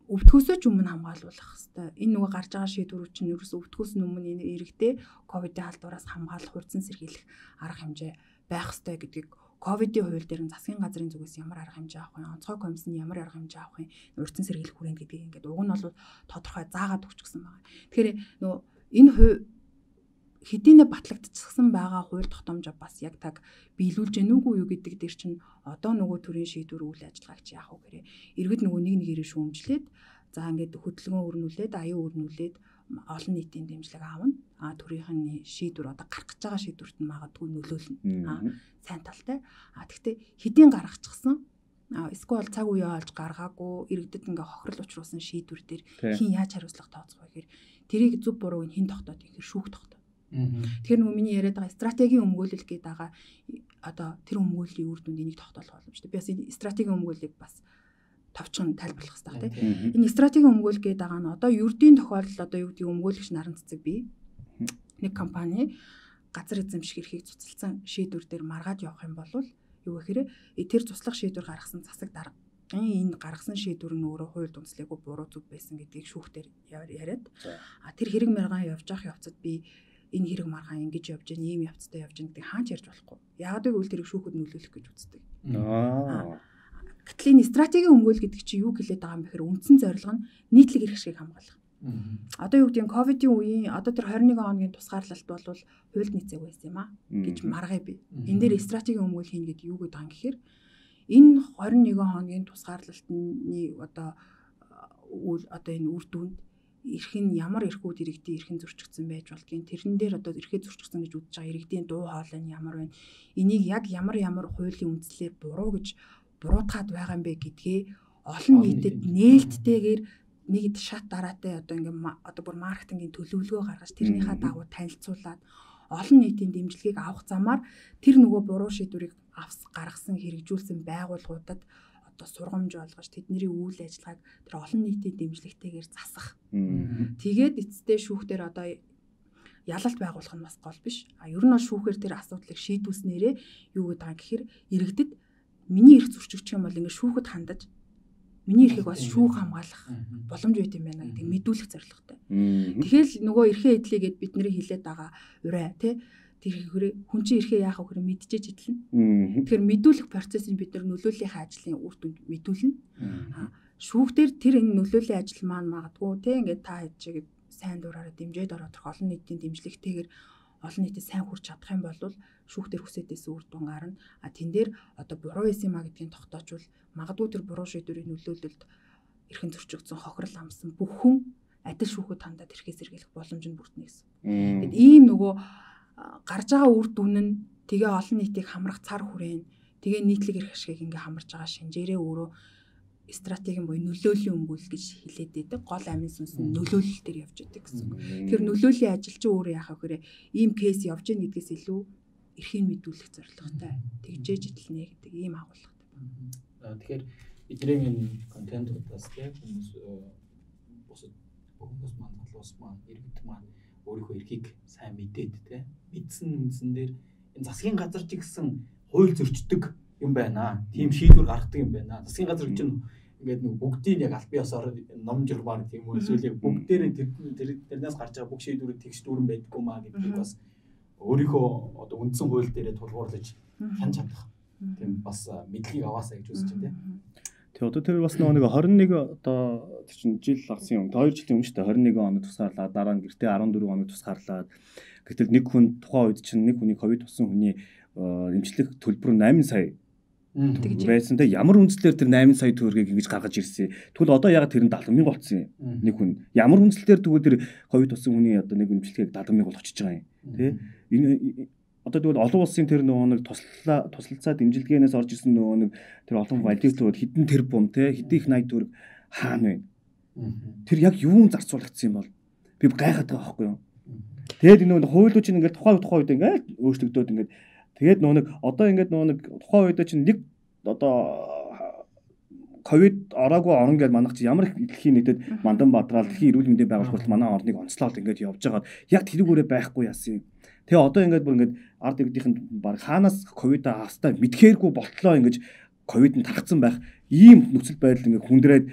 өвдөхөөсөө ч өмнө хамгаалуулах хэрэгтэй. Энэ нөгөө гарч байгаа шийдвэрүүд чинь ерөөсөө өвдөхөөс өмнө энэ эрэгтэй ковидын халдвараас хамгаалах, урьдчилан сэргийлэх арга хэмжээ байх ёстой гэдгийг ковидын хууль дээр нь засгийн газрын зүгээс ямар арга хэмжээ авах вэ? Онцгой комиссны ямар арга хэмжээ авах вэ? Урьдчилан сэргийлэх хүрээнд гэдгийг ингээд уг нь бол тодорхой заагаад өгчихсөн байгаа. Тэгэхээр нөгөө энэ хэдийнэ батлагдчихсан байгаа хууль тогтоомжоо бас яг таг биелүүлж гэнэ үгүй юу гэдэг дээр чинь одоо нөгөө төрлийн шийдвэр үйл ажиллагаач яах вэ гэхээр иргэд нөгөө нэг шүүмжлээд за ингээд хөдөлгөөн өрнүүлээд аюун өрнүүлээд олон нийтийн дэмжлэг аавна. Төрийнх нь шийдвэр одоо гарах гэж байгаа шийдвэрт нь магадгүй нөлөөлнө. Сайн талтай. Тэгтээ хэдийн гаргачихсан эсвэл цаг үеэ олж гаргаагүй иргэдэд ингээ хохирол учруулсан шийдвэр дээр хин яаж хариуцлага тооцох вэ гэхээр тэрийг зөв бурууг хин тогтоод ихээр шүүх тогтоо. Тэгэхээр нөгөө миний яриад байгаа стратегийн өмгөөлөл гэдэг байгаа одоо тэр өмгөөллийн үр дүнд энийг тогтоолох боломжтой. Би бас энэ стратегийн өмгөөллийг бас товчхон тайлбарлах хэрэгтэй тийм. Энэ стратегийн өмгөөлөл гэдэг байгаа нь одоо ердийн тохиолдолд одоо юу гэдэг өмгөөлөгч наран цэцэг бий. Нэг компани газар эзэмших эрхийг цуцалсан шийдвэр дээр маргаад явах юм бол юу гэхээр тэр туслах шийдвэр гаргасан засаг дарга энэ гаргасан шийдвэр нь өөрөө хууль дүнслэхгүй буруу зүг байсан гэдгийг шүүхтэр яриад тэр хэрэг мэргаан явж явах явцад би энэ хэрэг маргаан ингэж явж гэн ийм явцтай явж гэн гэдэг хаач ярьж болохгүй. Яг гэвэл тэрийг шүүхэд нөлөөлөх гэж үздэг. Гэтэл энэ стратегийн өмгөөл гэдэг чинь юу гэлээд байгаа юм бэ гэхээр үндсэн зорилго нь нийтлэг эрх шиг хамгаалах. Одоо юу гэдэг нь ковидын үеийн одоо тэр 21 хоногийн тусгаарлалт бол хуульд нийцээг байсан юм аа гэж маргая би. Энэ дээр стратегийн өмгөөл хийн гэдэг юу гэдэг юм гэхээр энэ 21 хоногийн тусгаарлалтны одоо энэ үр дүнд эрх нь ямар эрхүүд иргэдийн эрхэн зөрчигдсөн байж болдгийг тэрэн дээр одоо эрхээ зөрчигдсөн гэж үзэж байгаа иргэдийн дуу хоолой нь ямар байна. Энийг яг ямар хуулийн үндслээр буруу гэж буруутгаад байгаа юм бэ гэдгээ олон нийтэд нээлттэйгээр нэг шат дараатай одоо ингээм одоо бүр маркетингийн төлөвлөгөө гаргаж тэрнийхээ дагуу танилцуулаад олон нийтийн дэмжлэгийг авах замаар тэр нөгөө буруу шийдвэрийг гаргасан хэрэгжүүлсэн байгууллагуудад одоо сургамж олгож тэдний үйл ажиллагааг тэр олон нийтийн дэмжлэгтэйгээр засах. Тэгээд эцэстээ шүүхтэр одоо ялалт байгуулах нь бас гол биш. Ер нь бол шүүхээр тэр асуудлыг шийдүүлснээрээ юу гэдэг байгаа гэхээр иргэдэд миний эрх зөрчигдчих юм бол ингээд шүүхэд хандаж миний эрхийг бас шүүх хамгаалах боломж байт юм байна гэдэг мэдүүлэх зорилготой. Тэгэхээр нөгөө эрхээ эдлэгээд бид нэр хилээд байгаа урай тий тэр хүн чинь эрхээ яах вэ гэхээр мэдчихэж идэлнэ. Тэгэхээр мэдүүлэх процессыг бид нар нөлөөллийнхаа ажлын үр дүнд мэдүүлнэ. Шүүхтэр тэр энэ нөлөөллийн ажил маань магадгүй тий ингээд та хийж сайн дураараа дэмжиж ороод олон нийтийн дэмжлэгтэйгээр олон нийтэд сайн хүрч чадах юм бол шүүхтэр хүсэдээс үр дүн гарна. Тэн дээр одоо буруу байсан маа гэдгийг тогтоочвол магадгүй тэр буруу шийдвэрийн нөлөөлөлд эрхэн зөрчигдсөн хохирол амсан бүх хүн адил шүүхэд хандаад эрхээ сэргийлэх боломж нь бүрднэ гэсэн. Тэгэд ийм нөгөө гарч байгаа үр дүн нь тэгээ олон нийтийг хамрах цар хүрээн тэгээ нийтлэг эрх ашгийг ингээ хамарж байгаа шинжээрээ өөрөө стратегийн буюу нөлөөллийн өмгөөл гэж хэлээд байдаг. Гол амин сүнс нь нөлөөлөл төр явж байдаг гэсэн. Тэгэхээр нөлөөллийн ажил чинь өөрөө яах вэ гэхээр ийм кейс явж гин гэдгээс илүү эрхийг мэдүүлэх зорилготой. Тэгжээж идэлнэ гэдэг ийм агуулгатай байна. Тэгэхээр бидний энэ контентуудаас тийм хүмүүс бусад хүмүүс маань залуус маань иргэд маань өөрийнхөө эрхийг сайн мэдээд тийм мэдсэн үндсэн дээр энэ засгийн газар ч гэсэн хууль зөрчдөг юм байна. Тийм шийдвэр гаргадаг юм байна. Засгийн газар чинь ингээд нэг бүгдийг яг аль бие осоор ном журмаар тийм үү эсвэл яг бүгдээрээ тэрнээс гарч байгаа бүх шийдвэрүүд тэгш дүүрэн байдаггүй маа гэдгийг бас өөрийнхөө одоо үндсэн хууль дээрээ тулгуурлаж хянж чадах. Тийм бас мэдлэгийг аваасаа гэж үзэж байна тийм. Тэгээ одоо тэр бас нэг 21 одоо тэр чинь жил гарсан юм. 2 жилийн өмнө шүү дээ 21 хоног тусгаарлаад дараа нь гэртээ 14 хоног тусгаарлаад гэтэл нэг хүн тухайн үед чинь нэг хүний ковид тусан хүний эмчлэх төлбөр 8 сая байсан. Тэ ямар үндслээр тэр 8 сая төгрөгийг ингэж гаргаж ирсэн. Тэгвэл одоо яг тэр нь 70,000 болсон юм. Нэг хүн ямар үндслээр тэгвэл тэр ковид тусан хүний одоо нэг эмчилгээг 70,000 бол очиж байгаа юм. Тэ энэ одоо тэгвэл олон улсын тэр нөгөө нэг туслалцаа дэмжлэгээнээс орж ирсэн нөгөө нэг тэр олон валютууд хэдэн тэрбум те хэдэн их 80 төгрөг хаана вэ? Тэр яг юун зарцуулагдсан юм бол би гайхаад байгаа байхгүй юу? Тэгээд нөгөө хуулиуд чинь ингээд тухайн үед ингээд өөрчлөгдөөд ингээд тэгээд нөгөө нэг одоо ингээд нөгөө нэг тухайн үед чинь нэг одоо ковид ороогүй орон гэж манайх чи ямар их дэлхийн нийтэд мандан бадраал дэлхийн эрүүл мэндийн байгууллага манай орныг онцлоод ингээд явж байгаад яг тэрүүгээрээ байхгүй яасан юм. Тэгээ одоо ингээд бүр ингээд ард иргэдийнх нь баг хаанаас ковид австаа мэдхээргүй болтлоо ингэж ковид нь тархсан байх ийм нөхцөл байдал ингээд хүндрээд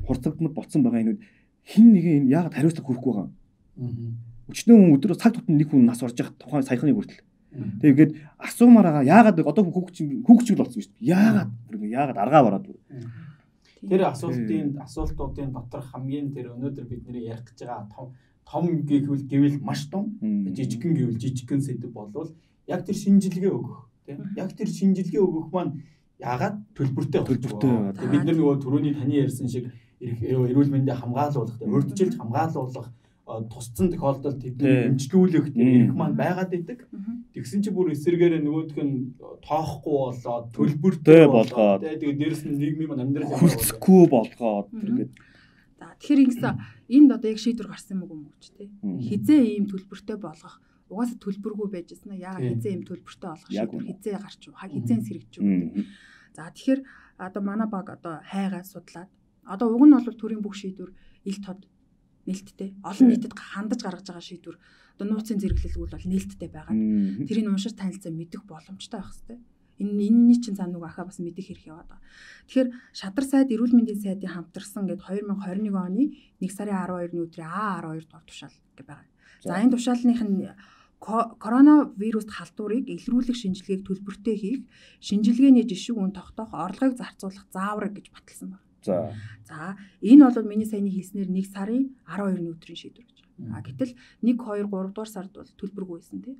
хурцагдмал болцсон байгаа энэ хин нэг энэ яг хариуцлага хүрхгүй байгаа. Өчнөө өдрөө цаг тутам нэг хүн нас орж явах тухайн саяхны хүртэл. Тэгээд асуумаар байгаа яагаад одоо хүүхчл болсон шүү дээ. Яагаад аргаа бараад. Тэр асуултуудын дотор хамгийн тэр өнөөдөр бидний ярих гэж байгаа том гэвэл маш том жижигхэн гэвэл жижигхэн сэдв болвол яг тэр шинжилгээ өгөх тийм яг тэр шинжилгээ өгөх маань яагаад төлбөртэй байна. Бид нар нөгөө түрүүний таны ярьсан шиг эрүүл мэндийг хамгаалуулах урьдчилж хамгаалуулах тусцсан тохиолдолд тэдний эмчилүүлэх эрх маань байгаад идэг. Тэгсэн чи бүр эсэргээр нөгөөх нь тоохгүй болоод төлбөртэй болгоод тэгээд дээрэс нь нийгмийн амьдрал хүрцэхгүй болгоод ингээд за тэгэхээр ингэсэн энд одоо яг шийдвэр гарсан юм уу гэж тий хизээ ийм төлбөртэй болгох угаасаа төлбөргүй байж байна. Яагаад хизээ ийм төлбөртэй болгох шийдвэр хизээ гарч уу хизээ сэргэж үү. За тэгэхээр одоо манай баг одоо хайгаа судлаад одоо уг нь бол төрийн бүх шийдвэр ил тод нээлттэй олон нийтэд хандаж гаргаж байгаа шийдвэр одоо нууцын зэрэглэлгүүл бол нээлттэй байгаа. Тэрийг уншиж танилцсан мэдэх боломжтой байх хэрэгтэй. Энэний чинь цааныг ахаа бас мэдэх хэрэг яваад байгаа. Тэгэхээр Шадар сайд эрүүл мэндийн сайдын хамтарсан гээд 2021 оны 1 сарын 12-ны өдрийн А12 дугаар тушаал гэж байгаа. За энэ тушаалных нь коронавируст халдварыг илрүүлэх шинжилгээг төлбөртэй хийх, шинжилгээний жишг үн тогтоох, орлогыг зарцуулах заавар гэж баталсан байна. За энэ бол миний саяны хэлснээр 1 сарын 12-ны өдрийн шийдвэр гэж. Гэтэл 1, 2, 3 дугаар сард бол төлбөргүй байсан тий.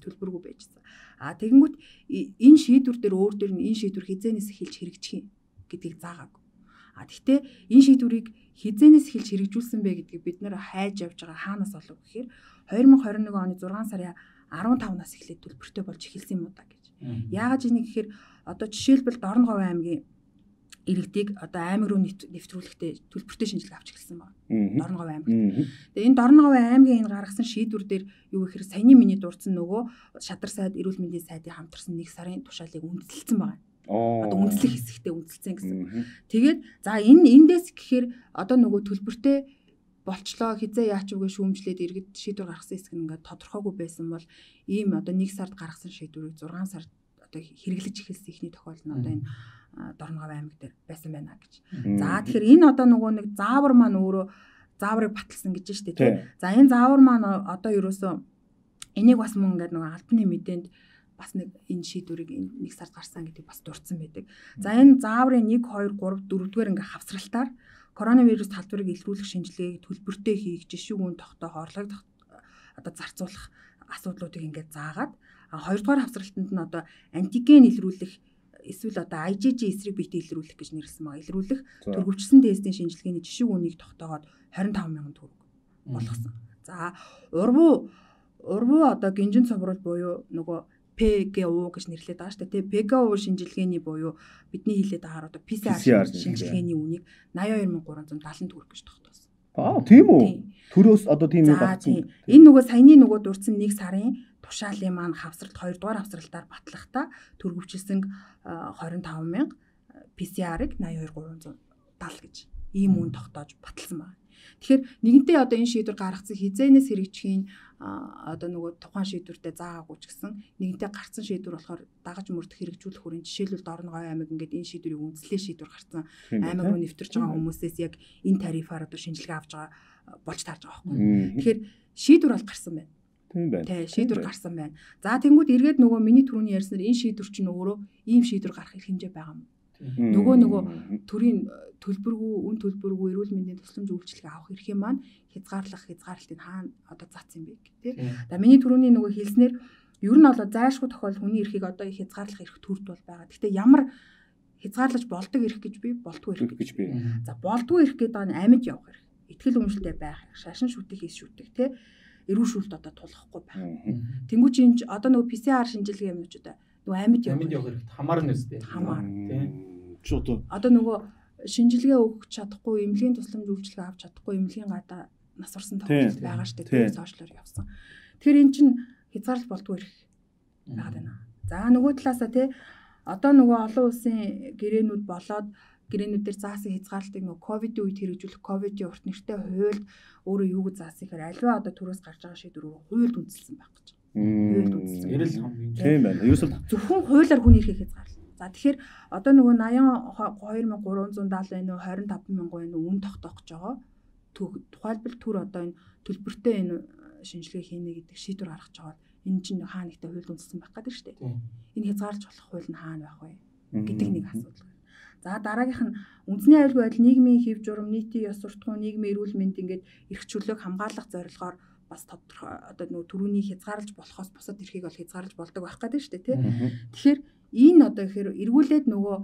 Төлбөргүй байжсан. Тэгэнгүүт энэ шийдвэр дээр өөр дээр нь энэ шийдвэр хизээнээс эхэлж хэрэгжих гэдгийг заагаагүй. Гэхдээ энэ шийдвэрийг хизээнээс эхэлж хэрэгжүүлсэн бэ гэдгийг бид нэр хайж явж байгаа хаанаас олов гэхээр 2021 оны 6 сарын 15-наас эхлээд төлбөртэй болж эхэлсэн юм уу та гэж. Яагаад ийм гэхээр одоо жишээлбэл Дорноговь аймгийн иргэдийг одоо аймаг руу нэвтрүүлэхдээ төлбөртэй шинжилгээ авч эхэлсэн байна. Дорноговь аймагт. Тэгээ энэ Дорноговь аймгийн энэ гаргасан шийдвэр дээр юу гэхээр саяны миний дурдсан нөгөө шадар сайд эрүүл мэндийн сайдын хамтарсан 1 сарын тушаалыг үндэслэлсэн байна. Одоо үндэслэх хэсэгтээ үндэслэлсэн гэсэн. Тэгээд за эндээс гэхээр одоо нөгөө төлбөртэй болчлоо хизээ яач үгээ шүүмжлээд иргэд шийдвэр гаргасан хэсэг нь ингээд тодорхойгүй байсан бол ийм одоо 1 сард гаргасан шийдвэрийг 6 сард одоо хэрэглэж эхэлсэн ихний тохиолдол нь одоо энэ Дорноговь аймаг дээр байсан байна гэж. За тэгэхээр энэ одоо нөгөө нэг заавар маань өөрөө зааврыг баталсан гэж штэ тий. За энэ заавар маань одоо ерөөсөө энийг бас мөн ингээд нөгөө албаны мэдээнд бас нэг энэ шийдвэрийг 1 сард гарсан гэдэг бас дурдсан байдаг. За энэ зааврын 1 2 3 4-р ингээд хавсралтаар коронавирус талбарыг илрүүлэх шинжилгээг төлбөртэй хийх, жишүүгүүн тогтоох, орлогыг одоо зарцуулах асуудлуудыг ингээд заагаад 2-р хавсралтанд нь одоо антиген илрүүлэх эсвэл одоо IgG эсрэг биетэй илрүүлэх гэж нэрлсэн байгаа. Илрүүлэх төрөвчсөн тестийн шинжилгээний жишүүгүүнийг тогтоогоод 25,000 төгрөг болгосон. За урвуу одоо гинжин цовруул буюу нөгөө PGU гэж нэрлэдэг байгаа шүү дээ. PGU шинжилгээний буюу бидний хэлээд байгаа одоо PCR шинжилгээний үнийг 82,370 төгрөг гэж тогтоосон. Тийм үү? Төрөөс одоо тийм юм багцсан. Энэ нөгөө саяны нөгөө дурдсан 1 сарын тушаалын маань хавсралт 2-р хавсралтаар батлахдаа төрөвчлсөн 25,000 PCR-ыг 82,370 гэж ийм үн тогтоож баталсан байна. Тэгэхээр нэгэнтээ одоо энэ шийдвэр гаргацсан хизээнээс хэрэгжихийн одоо нөгөө тухайн шийдвэртээ заагаагүй ч гэсэн нэгэнтээ гарцсан шийдвэр болохоор дагаж мөрдөх хэрэгжүүлэх хүрээнд жишээлбэл Дорноговь аймаг ингээд энэ шийдвэрийг үндэслэх шийдвэр гарцсан аймаг руу нэвтэрж байгаа хүмүүсээс яг энэ тарифаар одоо шинжилгээ авч байгаа болж таарж байгаа байхгүй. Тэгэхээр шийдвэр бол гарсан байна. Тийм байна. Тий, шийдвэр гарсан байна. За тэнгууд эргээд нөгөө миний түрүүний ярьснаар энэ шийдвэр чинь өөрөө ийм шийдвэр гарах эрх хэмжээ байгаа юм. Нөгөө төрийн үн төлбөргүй эрүүл мэндийн тусламж үйлчилгээ авах эрхийн маань хязгаарлалтын хаана одоо цац юм бэ гэх тий. За миний түрүүний нөгөө хэлснээр ер нь бол зайлшгүй тохиолдол хүний эрхийг одоо хязгаарлах эрх төрд бол байгаа. Гэхдээ ямар хязгаарлаж болдог эрх гэж би болдгүй эрх гэж би. За болдгүй эрх гэдэг нь амьд явах эрх. Итгэл үнэмшилтэй байх эрх, шашин шүтэх хийс шүтэх тий. Эрүү шүүлт одоо тулахгүй байх. Тэнгүү чи одоо нөгөө PCR шинжилгээ юм уу ч одоо нөгөө амьд явах эрхт хамаарна үстэй. Хамаар тий. Одоо нөгөө шинжилгээ өгч чадахгүй, эмнэлгийн тусламж үйлчилгээ авч чадахгүй, эмнэлгийн гадаа нас орсон тохиолдол байгаа шүү дээ. Сошиалор явсан. Тэгэхээр эн чинь хязгаарлалт болдгүй эрх байгаад байна. За нөгөө талаасаа тий одоо нөгөө олон улсын гэрээнүүд болоод гэрээнүүдээр заасан хязгаарлалтыг нөгөө ковидын үед хэрэгжүүлэх ковидын урт нэртэй хуульд өөрөө юу гэж заасан гэхээр аливаа одоо төрөөс гарч байгаа шийдвэр хуульд үндэслсэн байх гэж. Хуульд үндэслсэн. Эрэл хамгийн тийм байна. Ерөөсөл зөвхөн хуулиар хүний эрхийг хязгаарлал. За тэгэхээр одоо нөгөө 82,370 байна уу 25,000 байна уу үн тогтоох гэж байгаа. Тухайлбал төр одоо энэ төлбөртэй энэ шинжилгээ хийнэ гэдэг шийдвэр гаргаж байгаа. Энэ чинь хаана нэгтэй хуульд үндэслсэн байх гэдэг шүү дээ. Энэ хязгаарлаж болох хууль нь хаана байх вэ гэдэг нэг асуудал. За дараагийнх нь үндэсний аюулгүй байдал, нийгмийн хэв журам, нийтийн ёс суртахуун, нийгмийн эрүүл мэнд ингээд эрх чөлөөг хамгаалах зорилгоор бас тодорхой одоо нөгөө төрөний хязгаарлаж болохоос бусад эрхийг бол хязгаарлаж болдог байх гэдэг шүү дээ тий. Тэгэхээр энэ одоо гэхээр эргүүлээд нөгөө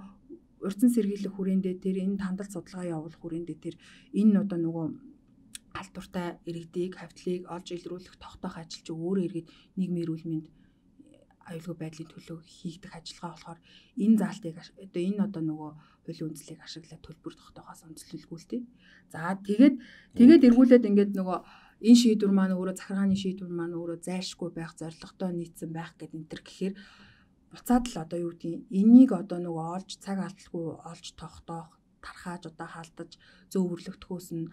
урьдчилан сэргийлэх хүрээндээ тэр энэ тандалт судалгаа явуулах хүрээндээ тэр энэ одоо нөгөө халдвартай иргэдийг хавьтлыг олж илрүүлэх тогтоох ажил чи өөрөө иргэд нийгмийн эрүүл мэнд аюулгүй байдлын төлөө хийгдэх ажиллагаа болохоор энэ заалтыг одоо энэ одоо нөгөө хуулийн үндслийг ашиглаад төлбөр тогтоохоос онцлүүлгүүлдэг. За тэгээд эргүүлээд ингээд нөгөө энэ шийдвэр маань өөрөө захиргааны шийдвэр маань өөрөө зайлшгүй байх, зорилготой нийцсэн байх гэдэг энэ төр гэхээр буцаад л одоо юу гэдгийг энийг одоо нөгөө олж цаг алдалгүй олж тогтоох, тархааж одоо халдаж зөөвөрлөгдөхөөс нь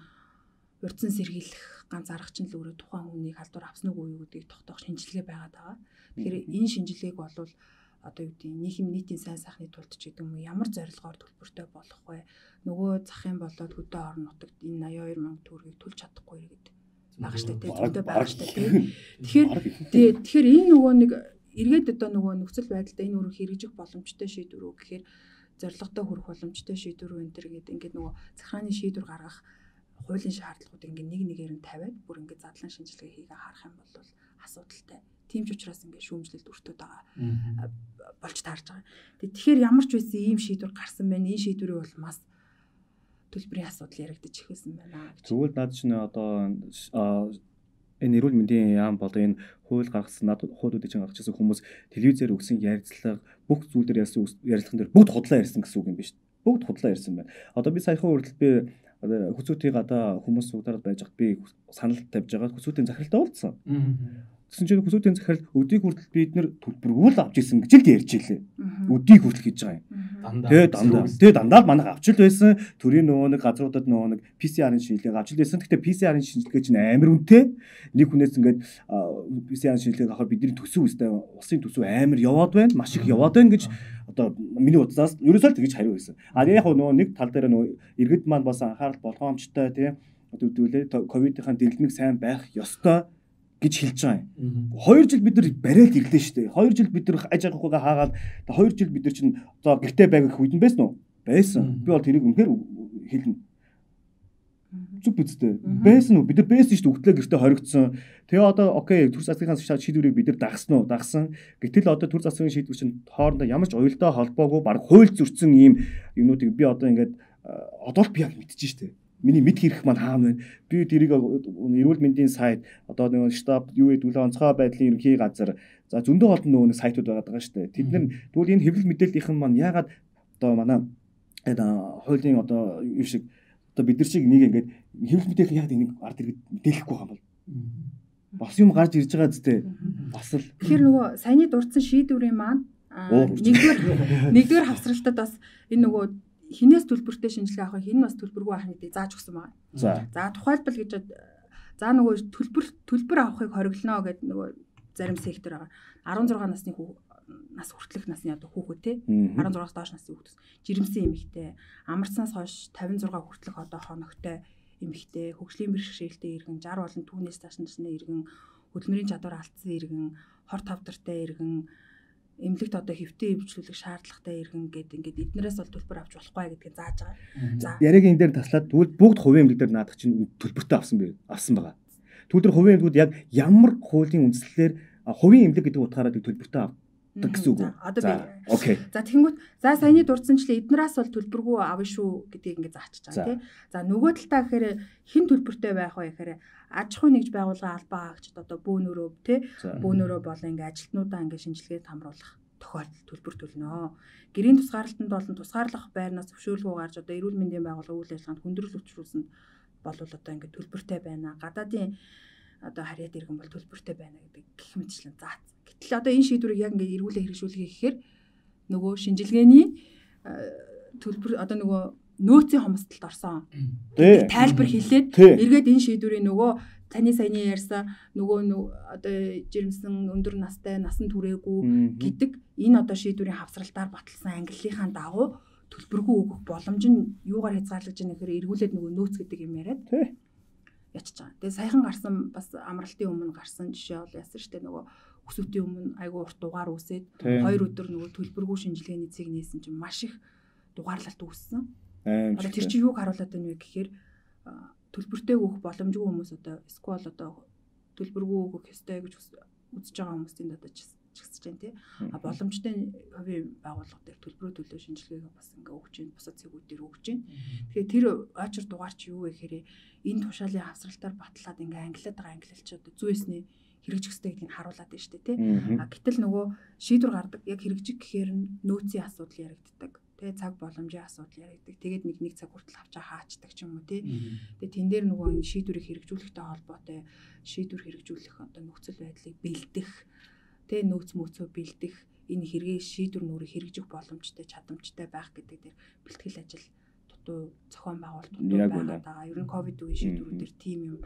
урьдчилан сэргийлэх ганц арга чинь л өөрөө тухайн хүнийг халдвар авсан уу юу гэдгийг тогтоох шинжилгээ байгаад байгаа. Тэгэхээр энэ шинжилгээг бол одоо юу гэдгийг нийтийн сайн сайхны тулд ч гэдэг юм уу ямар зорилгоор төлбөртэй болох вэ? Нөгөө зах юм болоод хөдөө орон нутагт энэ 82,000 төгрөгийг төлж чадахгүй гэдэг байгаа шүү дээ. Төлөвтэй байгаа шүү дээ. Тэгэхээр энэ нөгөө нэг эргээд одоо нөгөө нөхцөл байдалтай энэ өрөө хэрэгжих боломжтой шийдвэр үү гэхээр зорилготой хүрэх боломжтой шийдвэр үү энэ төр гэдэг ингээд нөгөө захиргааны шийдвэр гаргах хуулийн шаардлагуудыг ингээд нэг нэгээр нь тавиад бүр ингээд задлан шинжилгээ хийгээ харах юм бол асуудалтай. Тийм ч учраас ингээд шүүмжлэлд өртөөд байгаа болж таарж байгаа. Тэгэхээр ямар ч байсан ийм шийдвэр гарсан байна. Энэ шийдвэрийг бол бас төлбөрийн асуудал яригдчих эхэлсэн байна. Тэгвэл наад чинь одоо энэ эрүүл мэндийн яам болоо энэ хууль гаргасан хуулиудыг чинь гаргачихсан хүмүүс телевизээр өгсөн ярилцлага бүх зүйл дээр ярьсан ярилцлаган дээр бүгд худлаа ярьсан гэсэн үг юм биш үү? Бүгд худлаа ярьсан байна. Одоо би саяхан хүртэл би хүсүүтийг одоо хүмүүс суугаад байж хат би санал тавьж байгаа хүсүүтийн захиралтай уулзсан. Гэсэн чинь хүсүүтийн захирал өдийг хүртэл бид нэр төлбөргүүл авч ирсэн гэж л ярьж илээ. Өдийг хүртэл хийж байгаа юм. Тэгээ дандаа л манайх авч л байсан. Төрийн нөгөө нэг газруудад нөгөө нэг PCR-ын шинжилгээг авч л байсан. Гэхдээ PCR-ын шинжилгээ чинь амар үнэтэй. Нэг хүнээс ингээд PCR-ын шинжилгээг авахаар бидний төсөв үстэй улсын төсөв амар яваад байна. Маш их яваад байна гэж одоо миний удаас ерөөсөө л тэгж хариу байсан. А яг нөгөө нэг тал дээр нөгөө иргэд маань бас анхаарал болгоомжтой тийм одоо үгдүүлээ ковидынхаа дэлгэмиг сайн байх ёстой гэж хэлж байгаа юм. 2 жил бид нар барайл ирлээ шүү дээ. 2 жил бид нар аж ахуйгаа хаагаад 2 жил бид нар чинь одоо гэртээ байг үед нь байсан уу? Байсан. Би бол тэрийг үнэхээр хэлнэ. Зүг бидтэй. Байсан уу? Бид нар байсан шүү дээ. Өгтлээ гэртээ хоригдсон. Тэгээ одоо окей, төр засгийн шийдвэрийг бид нар дагсан уу? Дагсан. Гэтэл одоо төр засгийн шийдвэр чинь хоорондоо ямар ч уялдаа холбоогүй баг хууль зөрчсөн ийм юмнуудыг би одоо ингээд одоо л би яг мэдчихэж шүү дээ. Миний мэд хэрэг маань хаана вэ? Би тэрийг эрүүл мэндийн сайт одоо нэг штаб юу гэдэг онцгой байдлын ерөнхий газар за зөндөө олон нөгөө сайтууд байгаа шүү дээ. Тэд нар тэгвэл энэ хэвлэл мэдээллийнхэн маань яагаад одоо манай хуулийн одоо юу шиг одоо бид нар шиг нэг ингээд хэвлэл мэдээлэл яагаад энийг ард иргэд мэдээлэхгүй байгаа юм бол бас юм гарч ирж байгаа зүтэй. Бас л тэгэхээр нөгөө саяны дурдсан шийдвэрийн маань нэгдүгээр хавсралтад бас энэ нөгөө хинээс төлбөртэй шинжилгээ авах, хин нь бас төлбөргүй авах гэдгийг зааж өгсөн байна. За тухайлбал гэж за нөгөө төлбөр авахыг хориглоно гэдэг нөгөө зарим сектор байгаа. 16 насны нас хүртэлх насны одоо хүүхэд те 16-аас доош насны хүүхэд жирэмсэн эмэгтэй, амарцнаас хойш 56 хүртэлх одоо хоногтой эмэгтэй, хөгжлийн бэрхшээлтэй иргэн, 60 болон түүнээс доош насны иргэн, хөдөлмөрийн чадвар алдсан иргэн, хор тавдартай иргэн, эмнэлэгт одоо хэвтээ эвжүүлэх шаардлагатай иргэн гэдэг ингээд эднэрээс бол төлбөр авч болохгүй гэдгийг зааж байгаа. За яг энэ дээр таслаад тэгвэл бүгд хувийн эмнэлэг дээр наадах чинь төлбөртэй авсан байгаа. Тэгвэл тэр хувийн эмнэлгүүд яг ямар хуулийн үндслэлээр хувийн эмнэлэг гэдэг утгаараа төлбөртэй авдаг гэсэн үг үү? За окей. За тэгэнгүүт за саяны дурдсанчлаа эднээс бол төлбөргүй авна шүү гэдгийг ингээд заачиж байгаа тийм. За нөгөө талдаа гэхээр хэн төлбөртэй байх вэ гэхээр аж ахуй нэгж байгууллагын албан хаагчид одоо бөөнөрөө бөөнөрөө болон ингээ ажилтнуудаа ингээ шинжилгээнд хамруулах тохиолдолд төлбөр төлнө. Гэрийн тусгаарлалтанд болон тусгаарлах байрнаас зөвшөөрлөгөө гарч одоо эрүүл мэндийн байгууллага үйл ажиллагаанд хүндрэл учруулсанд бол одоо ингээ төлбөртэй байна. Гадаадын одоо харьяат иргэн бол төлбөртэй байна гэдэг гэх мэтчлэн заасан. Гэтэл одоо энэ шийдвэрийг яг ингээ эргүүлээ хэрэгжүүлэхийг гэхээр нөгөө шинжилгээний төлбөр одоо нөгөө нөөцийн хомсдолд орсон. Тайлбар хэлээд эргээд энэ шийдвэрийн нөгөө таны саяны ярьсан нөгөө одоо жирэмсэн өндөр настай насан туршаагүй гэдэг энэ одоо шийдвэрийн хавсралтаар баталсан ангиллийнхаа дагуу төлбөргүй өгөх боломж нь юугаар хязгаарлаж байгаа нэхэр эргүүлээд нөгөө нөөц гэдэг юм яриад ячиж байгаа. Тэгээ саяхан гарсан бас амралтын өмнө гарсан жишээ бол яасан штэ нөгөө өсвөтийн өмнө айгүй урт дугаар үсээд 2 өдөр нөгөө төлбөргүй шинжилгээний цэг нээсэн чинь маш их дугаарлалт үүссэн. Одоо тэр чинь юуг харуулдаг вэ гэхээр төлбөртэй өгөх боломжгүй хүмүүс одоо эсвэл одоо төлбөргүй өгөх ёстой гэж үзэж байгаа хүмүүсийн одоо чигсэж байна тий. А боломжтой хувийн байгууллага дээр төлбөрөө төлөө шинжилгээг бас ингээ өгч जैन бусад цэгүүд дээр өгч जैन. Тэгэхээр тэр очир дугаар чи юу вэ гэхээр энэ тушаалын хавсралтаар батлаад ингээ ангилаад байгаа ангилалч одоо зүйсний хэрэгжих ёстой гэдгийг харуулад байна шүү дээ тий. А гэтэл нөгөө шийдвэр гардаг яг хэрэгжих гэхээр нөөцийн асуудал яригддаг. Тэгээ цаг боломжийн асуудал яригддаг. Тэгээд нэг цаг хүртэл авчаа хаачдаг ч юм уу тий. Тэгээ тэн дээр нөгөө энэ шийдвэрийг хэрэгжүүлэхтэй холбоотой шийдвэр хэрэгжүүлэх одоо нөхцөл байдлыг бэлдэх, тэгээ нөөц мөөцөө бэлдэх, энэ хэрэгээ шийдвэр нүрийг хэрэгжих боломжтой, чадамжтай байх гэдэг дээр бэлтгэл ажил дутуу зохион байгуулалт байгаа. Ер нь ковид үеийн шийдвэрүүдээр тим юм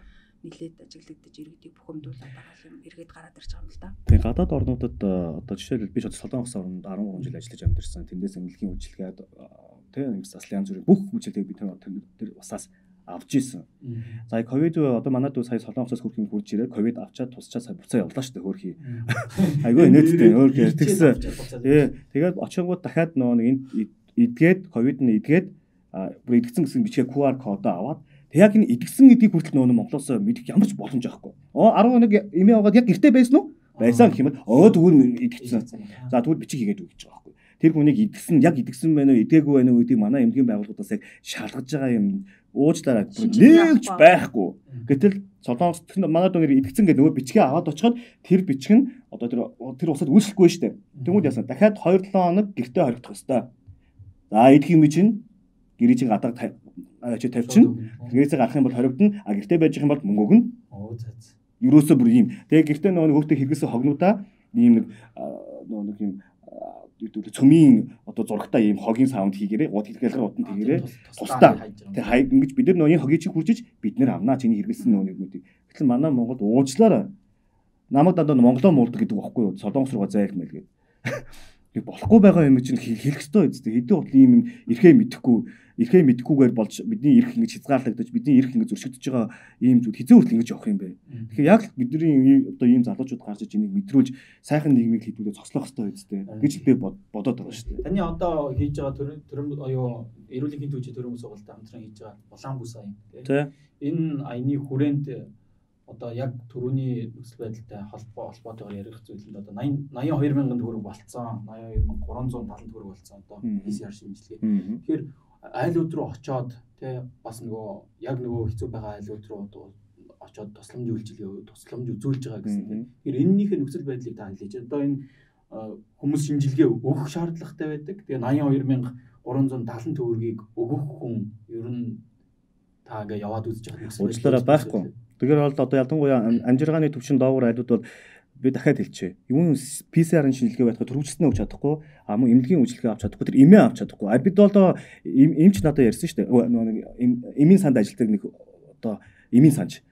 нэлээд ажиглагдаж иргэдийг бухимдуулаад байгаа юм эргээд гараад ирж байгаа юм л да. Тэгээ гадаад орнуудад одоо жишээлбэл би Солонгос орнд 13 жил ажиллаж амьдэрсэн. Тэндээс эмнэлгийн үйлчилгээд тийм заслын янз бүрийн бүх үйлчилгээг би тэр усаас авч исэн. За ковид одоо манайд сая Солонгосоос хөрхийн хурж ирээд ковид авчаад тусчаа сая буцаа явлаа шүү дээ хөрхий. Айгүй инээдтэй өөр гэртгсэн. Тэгээд очингууд дахиад нөгөө нэг эдгээд ковид нь эдгээд бүр эдгэсэн гэсэн бичгээ QR кодоо аваад яг энэ идэгсэн гэдгийг хүртэл нөгөө Монголоос мэдэх ямар ч боломж байхгүй. 11 эмээ аваад яг гэртээ байсан уу? Байсан гэх юм бол тэгвэл идэгсэн. За тэгвэл бичиг хийгээд үг гэж байгаа байхгүй. Тэр хүнийг идэгсэн яг идэгсэн байна уу, идээгүй байна уу гэдгийг манай эмнэлгийн байгууллагаас яг шалгаж байгаа юм уучлаарай нэгч байхгүй. Гэтэл Солонгос манай дөнгөр идэгсэн гэдэг нөгөө бичгээ аваад очиход тэр бичиг нь одоо тэр усад үйлчлэхгүй шүү дээ. Тэгмүүд яасан дахиад 2-7 хоног гэртээ хоригдох ёстой. За идэх юм чинь гэрээжийн гадаа очиж тавьчихна. Гэрээсээ гарах юм бол хоригдно. А гэртээ байж байгаа юм бол мөнгө өгнө. Оо за. Ерөөсөө бүр ийм. Тэгээ гэртээ нөгөө өөртөө хэрэглэсэн хогнуудаа ийм нэг нэг юм цөмийн одоо зурагтай ийм хогийн саунд хийгээрээ гууд хэлхэлгээр утан тэгээрээ тусдаа. Тэгээ ингэж бид нар нөгөө хогийг чи хуржиж бид нар авнаа чиний хэрэглэсэн нөгөө нэгүүдийг. Гэтэл манай Монголд уучлаарай. Намайг дандаа монголоо муулдаг гэдэг байхгүй юу? Солонгос руугаа зайх мэл гэдэг. Тэг болохгүй байгаа юм чинь хэлэх ёстой үстэй. Хэдэн утла ийм эрхээ мэдэхгүйгээр болж бидний эрх ингэж хязгаарлагдаж бидний эрх ингэж зөрчигдөж байгаа ийм зүйл хизээ хүртэл ингэж явах юм бэ. Тэгэхээр яг бидний одоо ийм залуучууд гарч иж энийг мэдрүүлж сайхан нийгмийг хэдүүлээ цогцлох ёстой үстэй гэж би бодоод байгаа шүү дээ. Таны одоо хийж байгаа төрөм оюу эрүүл мэндийн түүхий төрөм сургалтад хамтран хийж байгаа улаан бүс аян тийм. Энэ аяны хүрээнд одоо яг төрөний нөхцөл байдалтай холбоотойгоор ярих зүйлэнд одоо 82,000 төгрөг болцсон 82,370 төгрөг болцсон одоо PCR шимжлэгээ. Тэгэхээр айлууд руу очоод тий бас нөгөө яг нөгөө хэцүү байгаа айлууд руу очоод тусламж үзүүлж байгаа гэсэн. Тэгэхээр энэнийхээ нөхцөл байдлыг та хэлээч. Одоо энэ хүмүүс шимжилгээ өгөх шаардлагатай байдаг. Тэгээ 82,370 төгрөгийг өгөх хүн ер нь таагаа яваад үзэж байгаа нөхцөл байдлаараа байхгүй. Тэгэхээр бол одоо ялангуяа амжиргааны төвшин доогуур айлууд бол би дахиад хэлчихье. Юу PCR-ын шинжилгээ байхад төрөвчснээ өгч чадахгүй, мөн эмнэлгийн үйлчилгээ авч чадахгүй, тэр эмээ авч чадахгүй. Бид бол эмч надад ярьсан шүү дээ. Эмийн санд ажилладаг нэг одоо эмийн санж.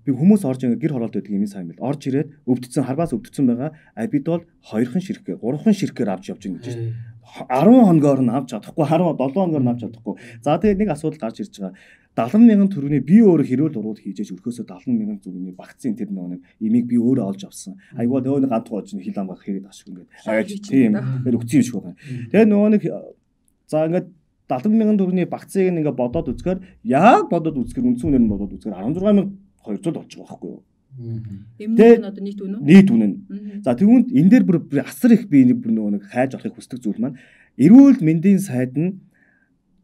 Би хүмүүс орж ингээ гэр хороолт байдаг эмийн сан юм бэл. Орж ирээд өвдсөн харбаас өвдсөн байгаа. Бид бол 2хан ширхгээ, 3хан ширхгээр авч явж байгаа гэж шүү дээ. 10 хоногоор нь авч чадахгүй, 17 хоногоор нь авч чадахгүй. За тэгээд нэг асуудал гарч ирж байгаа. 70,000 төгрөгийн би өөрөө хэрүүл урууд хийж өрхөөсөө 70,000 төгрөгийн вакцин тэр нэг имийг би өөрөө олж авсан. Айгуу нөгөө нэг гантгой очно хил амгах хэрэгэд ашиг ингээд. Тийм. Тэр өгцөн юм шиг байна. Тэгээ нөгөө нэг за ингээд 70,000 төгрөгийн вакциныг ингээд бодоод үзэхээр яг бодоод үзэхээр үндсэн үнээр нь бодоод үзэхээр 16,200 болж байгаа байхгүй юу? Эмнэлэг нь одоо нийт үнэ үү? Нийт үнэ нь. За тэгвэл энэ дээр бүр асар их би нөгөө нэг хайж авахыг хүсдэг зүйл маань эрүүл мэндийн сайд нь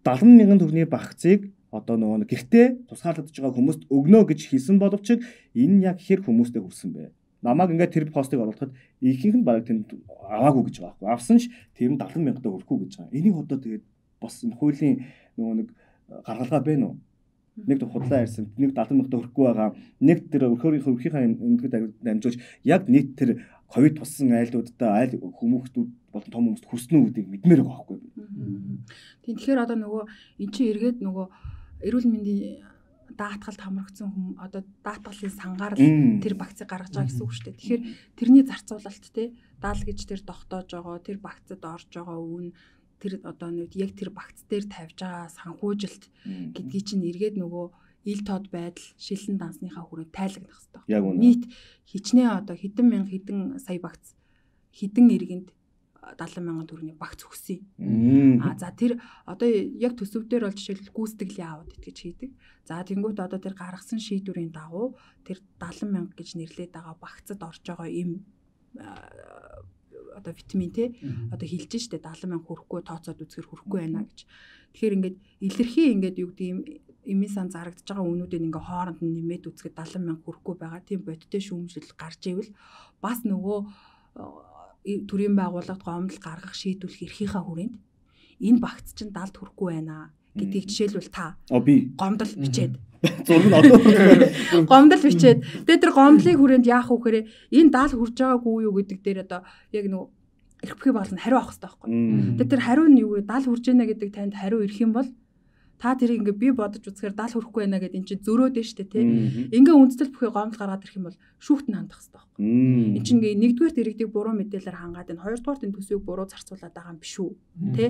70,000 төгрөгийн вакциныг одоо нөгөө гэртээ тусгаарлагдж байгаа хүмүүст өгнө гэж хэлсэн боловч энэ яг хэр хүмүүстэй хүрсэн бэ? Намайг ингээд тэр постыг оруулахад ихэнх нь бараг тэнд аваагүй гэж байгаа байхгүй. Авсан ч тэр нь 70,000 төгрөг өгөхгүй гэж байгаа. Энийг одоо тэгээд бас энэ хуулийн нөгөө нэг гаргалгаа байна уу? Нэг худлаа ярьсан. Нэг 70,000 төгрөггүй байгаа. Нэг тэр өрхөөрийнхөө эмнэлэгт дамжуулж яг нийт тэр ковид туссан айлуудаа айл хүмүүстүүд болон том хүмүүст хүрсэн үү гэдгийг мэдмээр байгаа байхгүй. Тэгэхээр одоо нөгөө эн чинь эргээд нөгөө эрүүл мэндийн даатгалд хамрагдсан хүн одоо даатгалын сангаар л тэр вакцины гаргаж байгаа гэсэн үг шүү дээ. Тэгэхээр тэрний зарцуулалт те даал гэж тэр тогтоож байгаа тэр вакцид орж байгаа үн тэр одоо нэг яг тэр вакц дээр тавьж байгаа санхүүжилт гэдгийг чинь эргээд нөгөө ил тод байдал шилэн дансныхаа хүрээнд тайлгнах хэрэгтэй. Нийт хичнээн одоо хэдэн сая вакц хэдэн иргэнд 70,000 төгрөгийн багц өгсөн. За тэр одоо яг төсөвдөр бол жишээлбэл гүйцэтгэлийн аудит гэж хийдэг. За тэнгуут одоо тэр гаргасан шийдвэрийн дагуу тэр 70,000 гэж нэрлээд байгаа багцад орж байгаа им одоо витамин те одоо хилж штэ 70,000 хүрэхгүй тооцоод үзэхэр хүрэхгүй байна гэж. Тэгэхээр ингээд илэрхий ингээд юу гэдэг эмийн сан зарагдж байгаа үнүүдийг ингээ хооронд нь нэмээд үзэхэд 70,000 хүрэхгүй байгаа. Тийм бодиттой шүүмжлэл гарч ивэл бас нөгөө төрийн байгууллагад гомдол гаргах шийдвэрлэх эрхийнхаа хүрээнд энэ багц чинь далд хүрэхгүй байна гэдгийг жишээлбэл та гомдол бичээд гомдол бичээд тэгээд тэр гомдлыг хүрээнд яах вэ гэхээр энэ дал хүрж байгаагүй юу гэдэг дээр одоо яг нөгөө эрх бүхий байгууллага нь хариу авах хэрэгтэй байхгүй. Тэгээд тэр хариу нь юу вэ? Дал хүрж байна гэдэг танд хариу ирэх юм бол та тэрийг ингээ би бодож үзэхээр дал хүрэхгүй байна гэдэг эн чинь зөрөөд нь штэ тий. Ингээ үндэслэл бүхий гомдол гаргаад ирэх юм бол шүүхт нь хандах хэрэгтэй байхгүй. Эн чинь ингээ нэгдүгээр иргэдийг буруу мэдээлэлээр хангаад байна. Хоёрдугаар энэ төсвийг буруу зарцуулаад байгаа юм биш үү? Тий.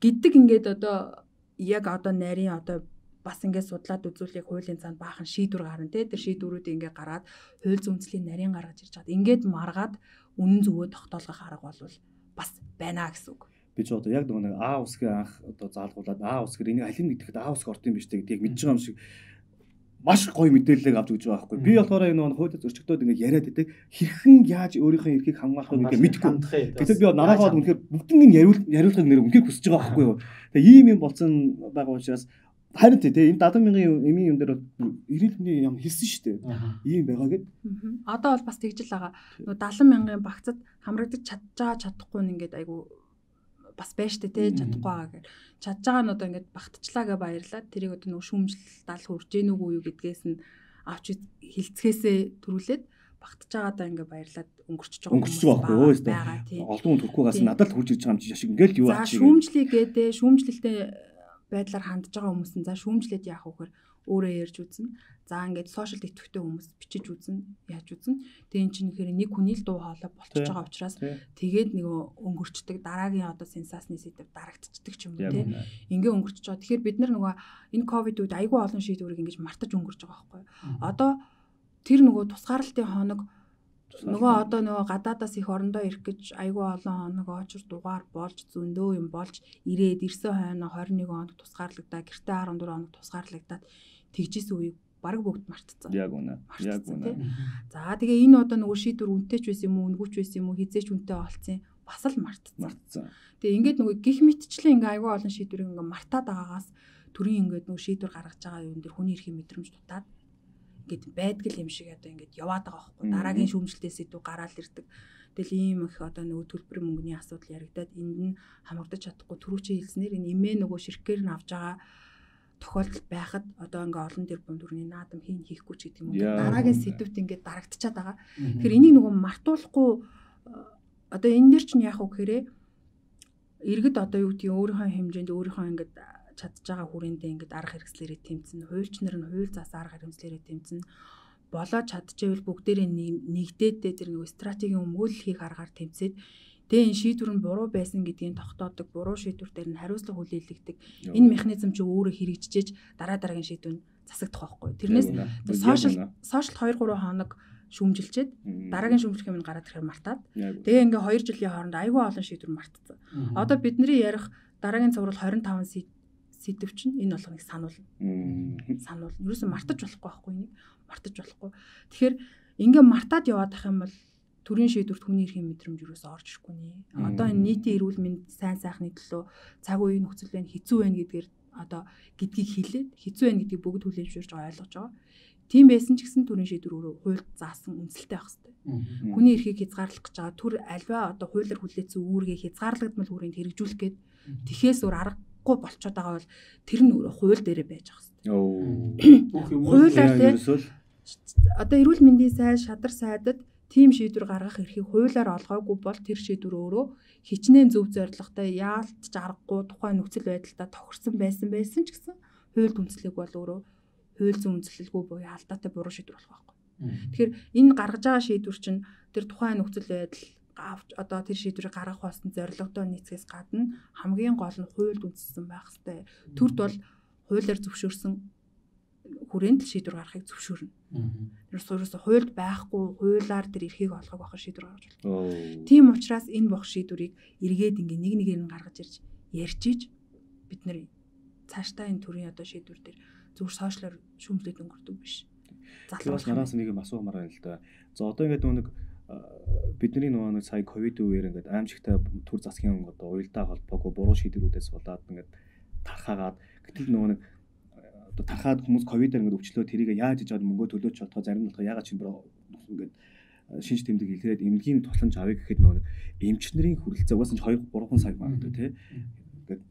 Гэдэг ингээд одоо яг одоо нарийн одоо бас ингээд судлаад үзүүлэх хуулийн цаанд баахан шийдвэр гарна тий. Тэр шийдвэрүүдийг ингээ гаргаад хууль зүйн нарийн гаргаж ирж байгаа. Ингээд маргаад үнэн зөвөө тогтоолгох арга бол бас байна гэсэн үг. Би ч одоо яг нэг А усгийн анх одоо заалгуулад А усгэр энийг алин гэдэхэд А усг орд юм биш гэдгийг мэдж байгаа юм шиг маш гоё мэдээлэл авч өгч байгаа байхгүй. Би болохоор энэ хууль зөрчигдөөд ингээд яриад байдаг хэрхэн яаж өөрийнхөө эрхийг хамгаалахыг ингээд мэдгүй. Гэтэл би нараагаад үнэхээр бүгднийг яриулахыг нэр үнэхээр хүсэж байгаа байхгүй юу. Тэгээ ийм юм болсон байгаа учраас харин энэ 70,000 эмийн юм дээр эрэлтний юм хэлсэн шүү дээ. Ийм байгаа гэд. Одоо бол бас тэгж л байгаа. 70,000-ын багцад хамрагдаж чадчихгүй нь ингээд айгу бас байж тээ чадахгүй байгаа гэх. Чадж байгаа нь одоо ингээд багтчлаа гэж баярлаад тэрийг одоо нөгөө шүүмжлэлт аль хүрж гэнэ үгүй юу гэдгээс нь авч хилцгээсээ төрүүлээд багтж байгаадаа ингээд баярлаад өнгөрчөж байгаа байхгүй. Олон хүн төрөхгүйгаас надад хурж ирж байгаа юм чи шиг ингээл юу ачиг. За шүүмжлэе гэдэг шүүмжлэлтэй байдлаар хандж байгаа хүмүүс нь за шүүмжлээд яах вэ гэхээр өөрөө ярьж үзнэ. За ингээд сошиал идэвхтэй хүмүүс бичиж үзнэ, яаж үзнэ. Тэгээ эн чинь гэхээр нэг хүний л дуу хоолой болчихж байгаа учраас тэгээд нөгөө өнгөрчдөг дараагийн одоо сенсацны сэдв дарагдчихдаг ч юм уу тий. Ингээ өнгөрчөж байгаа. Тэгэхээр бид нар нөгөө энэ ковид үед айгүй олон шийдвэрийг ингэж мартаж өнгөрч байгаа байхгүй юу. Одоо тэр нөгөө тусгаарлалтын хоног нөгөө одоо нөгөө гадаадаас их орондоо ирэх гэж айгүй олон хоног очир дугаар болж зөндөө юм болж ирээд ирсэн хойно 21 хоног тусгаарлагдаа гэртээ 14 хоног тусгаарлагдаад тэгжсэн үеийг бараг бүгд мартцсан. Яг үнэ. Яг үнэ. За тэгээ энэ одоо нөгөө шийдвэр үнэтэй ч байсан юм уу, үнгүүч байсан юм уу, хизээч үнэтэй олцсон бас л мартцсан. Тэгээ ингээд нөгөө гих мэтчлэн ингээ айгүй олон шийдвэрийг ингээ мартаад байгаагаас төрийн ингээд нөгөө шийдвэр гаргаж байгаа юм дээр хүний эрхийн мэдрэмж дутаад ингээд байдгал юм шиг одоо ингээд яваад байгаа байхгүй. Дараагийн шүүмжлэлтээс идэв гараал ирдэг. Тэгэл ийм их одоо нөгөө төлбөрийн мөнгөний асуудал яригадаад энд нь хамагдаж чадахгүй түрүүчээ хэлснээр энэ эмээ нөгөө ширхгээр нь авж байгаа тохиолдол байхад одоо ингээ олон тэрбум төгрөгийн наадам хийхгүй ч гэдэг юм уу. Дараагийн сэдвт ингээ дарагдчихад байгаа. Тэгэхээр энийг нөгөө мартуулахгүй одоо энэ дэр чинь яах вэ гэхээр иргэд одоо юу гэдгийг өөрийнхөө хэмжээнд өөрийнхөө ингээ чадж байгаа хүрээндээ ингээ арга хэрэгслээрээ тэмцэн, хуульч нар нь хууль зас арга хэрэгслээрээ тэмцэн болоод чадчихвэл бүгдээрээ нэгдээд тэр нөгөө стратегийн өмгөөлөл хийх аргаар тэмцээд тэгээ энэ шийдвэр нь буруу байсан гэдгийг тогтоодог, буруу шийдвэр дээр нь хариуцлага хүлээлгдэг. Энэ механизм чи өөрөө хэрэгжиж дараагийн шийдвэр нь засагдах байхгүй. Тэрнээс сошиал 2-3 хоног шүүмжилчээд дараагийн шүүмжлэх юм гараад ирэхээр мартаад тэгээ ингээ 2 жилийн хооронд айгүй олон шийдвэр мартцсан. Одоо бидний ярих дараагийн цуврал 25 сэдв чинь энэ болгоныг сануулна. Сануулна. Ерөөсөө мартаж болохгүй байхгүй энийг. Мартаж болохгүй. Тэгэхээр ингээ мартаад яваад ах юм бол төрийн шийдвэрт хүний эрхийн мэдрэмж юусоо орж ирэхгүй нэ. Одоо энэ нийтийн эрүүл мэнд сайн сайхны төлөө цаг үеийн нөхцөл байна, хэцүү байна гэдгээр одоо гэдгийг хэлээд хэцүү байна гэдгийг бүгд хүлээмжшүүлж байгаа ойлгож байгаа. Тийм байсан ч гэсэн төрийн шийдвэр өөрөө хуульд заасан үнэлэлтэй байх хэрэгтэй. Хүний эрхийг хязгаарлах гэж байгаа төр альва одоо хуулиар хүлээсэн үүргээ хязгаарлагдмал хүрээнд хэрэгжүүлэх гээд тэхээс өөр аргагүй болчиход байгаа бол тэр нь өөрөө хууль дээрээ байж байгаа хэрэгтэй. Хуулиар одоо эрүүл мэндийн сайд, шадар сайдад тийм шийдвэр гаргах эрхийг хуулиар олгоогүй бол тэр шийдвэр өөрөө хичнээн зөв зорилготой яалтч аргагүй тухайн нөхцөл байдалтай тохирсон байсан ч гэсэн хуульд үндэслэх бол өөрөө хууль зүйн үндэслэлгүй буюу алдаатай буруу шийдвэр болох байхгүй. Тэгэхээр энэ гаргаж байгаа шийдвэр чинь тэр тухайн нөхцөл байдал авч одоо тэр шийдвэрийг гаргах болсон зорилготой нийцгээс гадна хамгийн гол нь хуульд үндэслсэн байх хэрэгтэй. Төрд бол хуулиар зөвшөөрсөн хүрээнд л шийдвэр гаргахыг зөвшөөрнө. Ерөөсөө хуульд байхгүй хуулиар тэр эрхийг олгох байх шийдвэр гаргаж болно. Тийм учраас энэ бох шийдвэрийг эргээд ингээ нэг нэгээр нь гаргаж ирж ярьж иж бид нэр цаашдаа энэ төрлийн одоо шийдвэр дээр зөвхөн сошиалар шүүмжлээд өнгөрдөг биш. Залуус нараас нэг юм асуумаар байна л да. За одоо ингээд нэг бидний нэг сая ковид үеэр ингээд аимшигтай төр засгийн одоо уялдаа холбоогүй буруу шийдвэрүүдээс болоод ингээд тархаагаад гэтэл нэг одоо тархаад хүмүүс ковидаар ингээд өвчлөө тэрийг яаж хийж аваад мөнгө төлөөч чадхаа зарим нь болохоор ягаад ч ингээд шинж тэмдэг илрээд эмнэлгийн тусламж авъя гэхэд нэг эмчнэрийн хүрэлцээ угаасаа 2-3 сая магадгүй тий. Ингээд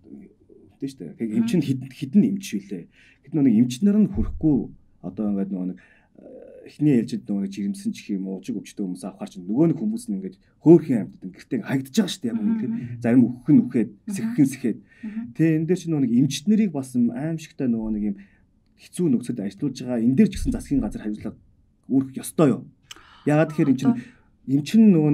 тийм шүү дээ. Эмч нь хідэн эмч шилээ. Гэт нэг эмчнэр нь хүрэхгүй одоо ингээд нэг эхний ээлжид нэг жирэмсэн ч юм уу ужиг өвчтөе хүмүүс авахар чинь нөгөө нэг хүмүүс нь ингээд хөөхөн амьтад гэртээ хагдаж байгаа шүү дээ. Яг үнэхээр зарим өөхөх нь үхээд сэхэх. Тэгээ энэ дээр чинь нөгөө нэг эмчнэрийг бас аимшигтай нөгөө нэг юм хэцүү нөхцөлд ажиллаж байгаа энэ дээр ч гэсэн засгийн газар хариуцлага үүрэх ёстой юу? Ягаад тэгэхээр эмч нь нөгөө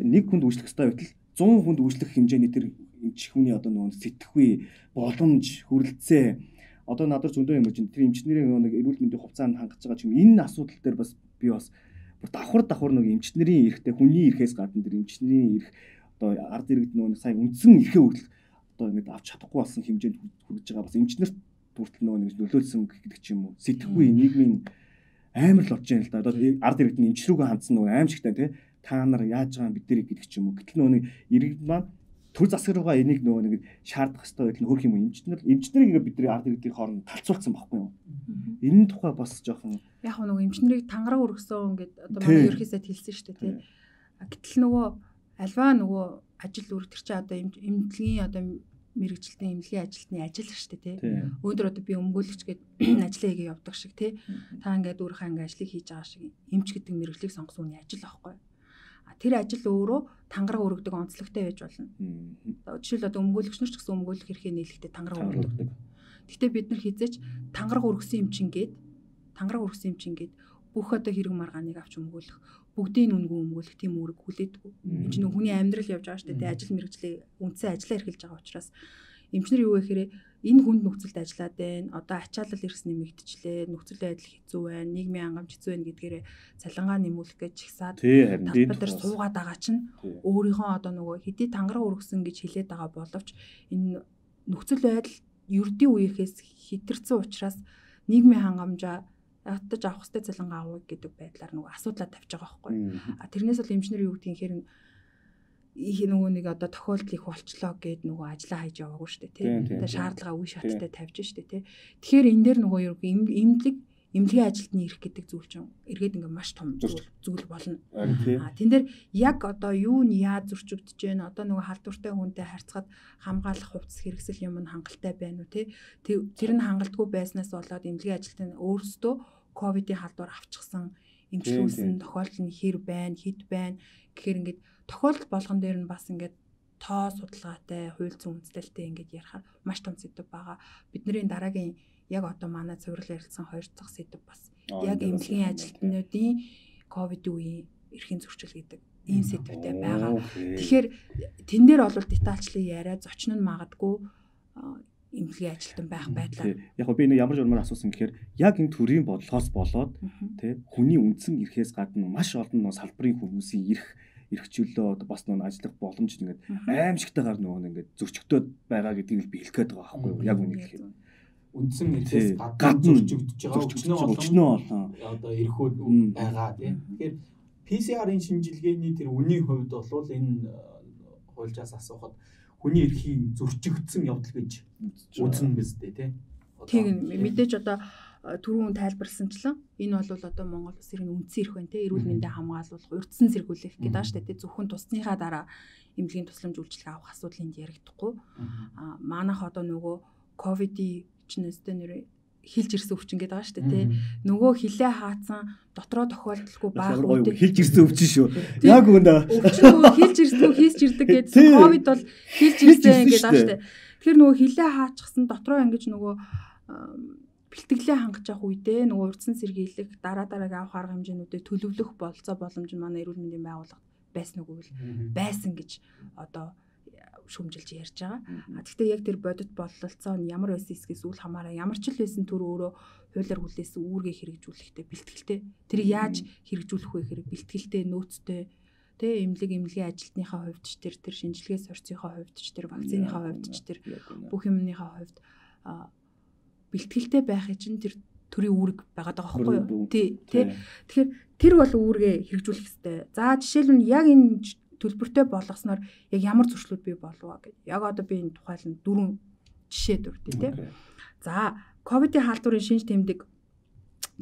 нэг хүнд үйлчлэх ёстой байтал 100 хүнд үйлчлэх хэмжээний тэр эмч хүний одоо нөгөө сэтгэхүй боломж хүрэлцээ одоо надад зөндөө юм чинь тэр эмчнэрийн нөгөө нэг эрүүл мэндийн хувьцаанд хангаж байгаа ч юм энэ асуудал дээр бас би бас давхар нэг эмчнэрийн эрхтэй хүний эрхээс гадна тэр эмчнэрийн эрх одоо ард иргэд нөгөө сая үндсэн эрхээ хүртэл одоо ингэ авч чадахгүй болсон хэмжээнд хүрэж байгаа бас эмчнэрт хүртэл нөгөө нэг нөлөөлсөн гэдэг ч юм уу сэтгэхүй нийгмийн амар л болж байна л да. Одоо ард иргэд нь эмч рүүгээ хандсан нөгөө аимшигтай тий та нар яаж байгаа бид нарыг гэдэг ч юм уу. Гэтэл нөгөө нэг иргэд маань төр засаг руугаа энийг нөгөө нэг шаардах хэрэгтэй байх нь хөрх юм уу эмчнэрийг бидний ард иргэдийн хооронд талцуулсан байхгүй юу. Энэ тухай бас жоохон яг нөгөө эмчнэрийг тангараг өргөсөн гэдэг одоо манай ерхий сайд хэлсэн шүү дээ тий. Гэтэл нөгөө альва нөгөө ажил үүрэг төр чи одоо эмнэлгийн одоо мэрэгчлэлтийн эмнэлгийн ажилтны ажил шүү дээ тий. Өнөөдөр одоо би өмгөөлөгч гээд ажлаа хийгээ явдаг шиг тий. Та ингээд өөрийнхөө ингээд ажлыг хийж байгаа шиг эмч гэдэг мэрэгчлийг сонгосон үний ажил аахгүй. Тэр ажил өөрөө тангараг өргөдөг онцлогтой байж болно. Жишээл одоо өмгөөлөгч нар ч гэсэн өмгөөлөх эрхээ нийлэхдээ тангараг өргөдөг. Гэхдээ бид нар хизээч тангараг өргөсөн эмчин гээд бүх одоо хэрэг маргааныг авч өмгөөлөх, бүгдийн үнгүй өмгөөлөх тийм үүрэг хүлээдэггүй. Энд чинь хүний амьдрал явж байгаа шүү дээ. Ажил мэргэжлийн үндсэн ажиллаа эрхэлж байгаа учраас эмчнэр юу гэхээр энэ хүнд нөхцөлд ажиллаад байна. Одоо ачаалал эрс нэмэгдчихлээ. Нөхцөл байдал хэцүү байна. Нийгмийн хангамж хэцүү байна гэдгээр цалингаа нэмүүлэх гэж чигсаад талбар суугаад байгаа чинь өөрийнхөө одоо нөгөө хэдий тангараг өргөсөн гэж хэлээд байгаа боловч энэ нөхцөл байдал ердийн үеийнхээс хэтэрсэн учраас нийгмийн хангамжаа ятаж авах хэвээр цалингаа авах гэдэг байдлаар нөгөө асуудлаа тавьж байгаа байхгүй. Тэрнээс бол эмчнэр юу гэдгийг хэрэг нөгөө нэг одоо тохиолдол их болчлоо гэд нөгөө ажиллаа хайж яваагүй шүү дээ тий. Тэгээ шаардлага үе шаттай тавьж шүү дээ тий. Тэгэхээр энэ дээр нөгөө юу эмнэлгийн ажилтны эрх гэдэг зүйл чинь эргээд ингээ маш том зүйл болно. Тэн дээр яг одоо юу нь яаж зөрчигдөж байна? Одоо нөгөө халдвартай хүнтэй харьцахад хамгаалах хувцас хэрэгсэл юм нь хангалттай байна уу тий? Тэр нь хангалтгүй байснаас болоод эмнэлгийн ажилтны өөрсдөө ковидын халдвар авчихсан эмчилүүлсэн тохиолдол нь хэр байна, хэд байна гэхээр ингээд тохиолдол болгон дээр нь бас ингээд тоо судалгаатай, хууль зүйн үндэслэлтэй ингээд ярихаар маш том сэдв байгаа. Бидний дараагийн яг одоо манай цуврал ярилцсан 2 дахь сэдв бас яг эмнэлгийн ажилтнуудын ковидын үеийн эрхийн зөрчил гэдэг ийм сэдвтэй байгаа. Тэгэхээр тэн дээр бол детальчлан яриа зочин нь магадгүй эмнэлгийн ажилтан байх байдлаар. Яг би нэг ямар журмаар асуусан гэхээр яг энэ төрлийн бодлогоос болоод тий хүний үндсэн эрхээс гадна маш олон салбарын хүмүүсийн эрхчлөлөө бас нэг ажиллах боломж ингээд аимшигтайгаар нөгөө ингээд зөрчигдөд байгаа гэдгийг би хэлэх гээд байгаа байхгүй юу? Яг үнийг хэлэхэд үндсэн эрхээс гадна зөрчигдөж байгаа өчнөө олон одоо эрхүүд байгаа тийм. Тэгэхээр PCR-ын шинжилгээний тэр үнийн хувьд бол энэ хуульчаас асуухад хүний эрхийн зөрчигдсөн явдал гэж үзнэ биз дээ тийм. Тийм мэдээж одоо түрүүн тайлбарласанчлан энэ бол одоо Монгол улсын үндсэн эрх байна тийм. Эрүүл мэндийг хамгаалуулах, урьдчилан сэргийлэх гэдэг ааш тийм. Зөвхөн тусныхаа дараа эмнэлгийн тусламж үйлчилгээ авах асуудал энд яригдахгүй. Манайх одоо нөгөө ковидын чинээстэй нэр хилж ирсэн өвчин гэдэг байгаа шүү дээ тий. Нөгөө хилээ хаацсан дотроо тохиолдолгүй баах үүдээ хилж ирсэн өвчин шүү. Яг үнэ. Өвчин нөгөө хилж ирсэн хийсч ирдэг гэсэн ковид бол хилж ирсэн гэдэг байгаа шүү дээ. Тэгэхээр нөгөө хилээ хаачихсан дотроо ингэж нөгөө бэлтгэлээ хангаж явах үедээ нөгөө урдсан сэргийлэх дараагийн авах арга хэмжээнүүдэд төлөвлөх болцоо боломж нь манай эрүүл мэндийн байгууллага байсан үгүй байсан гэж одоо шүмжилж ярьж байгаа. Гэхдээ яг тэр бодит бололцоо нь ямар байсан эсгээс үл хамааран ямар ч л байсан төр өөрөө хуулиар хүлээсэн үүргээ хэрэгжүүлэхтэй бэлтгэлтэй. Тэр яаж хэрэгжүүлэх вэ гэхээр бэлтгэлтэй нөөцтэй эмнэлгийн ажилтныхаа хувьд ч тэр шинжилгээ сорцсныхаа хувьд ч тэр вакциныхаа хувьд ч тэр бүх юмныхаа хувьд бэлтгэлтэй байхын чинь тэр төрийн үүрэг байгаад байгаа байхгүй юу? Тэгэхээр тэр бол үүргээ хэрэгжүүлэх хэрэгтэй. За жишээлбэл яг энэ төлбөртэй болгосноор яг ямар зөрчлүүд бий болов гэдэг. Яг одоо би энэ тухайлан 4 жишээ дурдъя тий. За, ковидын халдварын шинж тэмдэг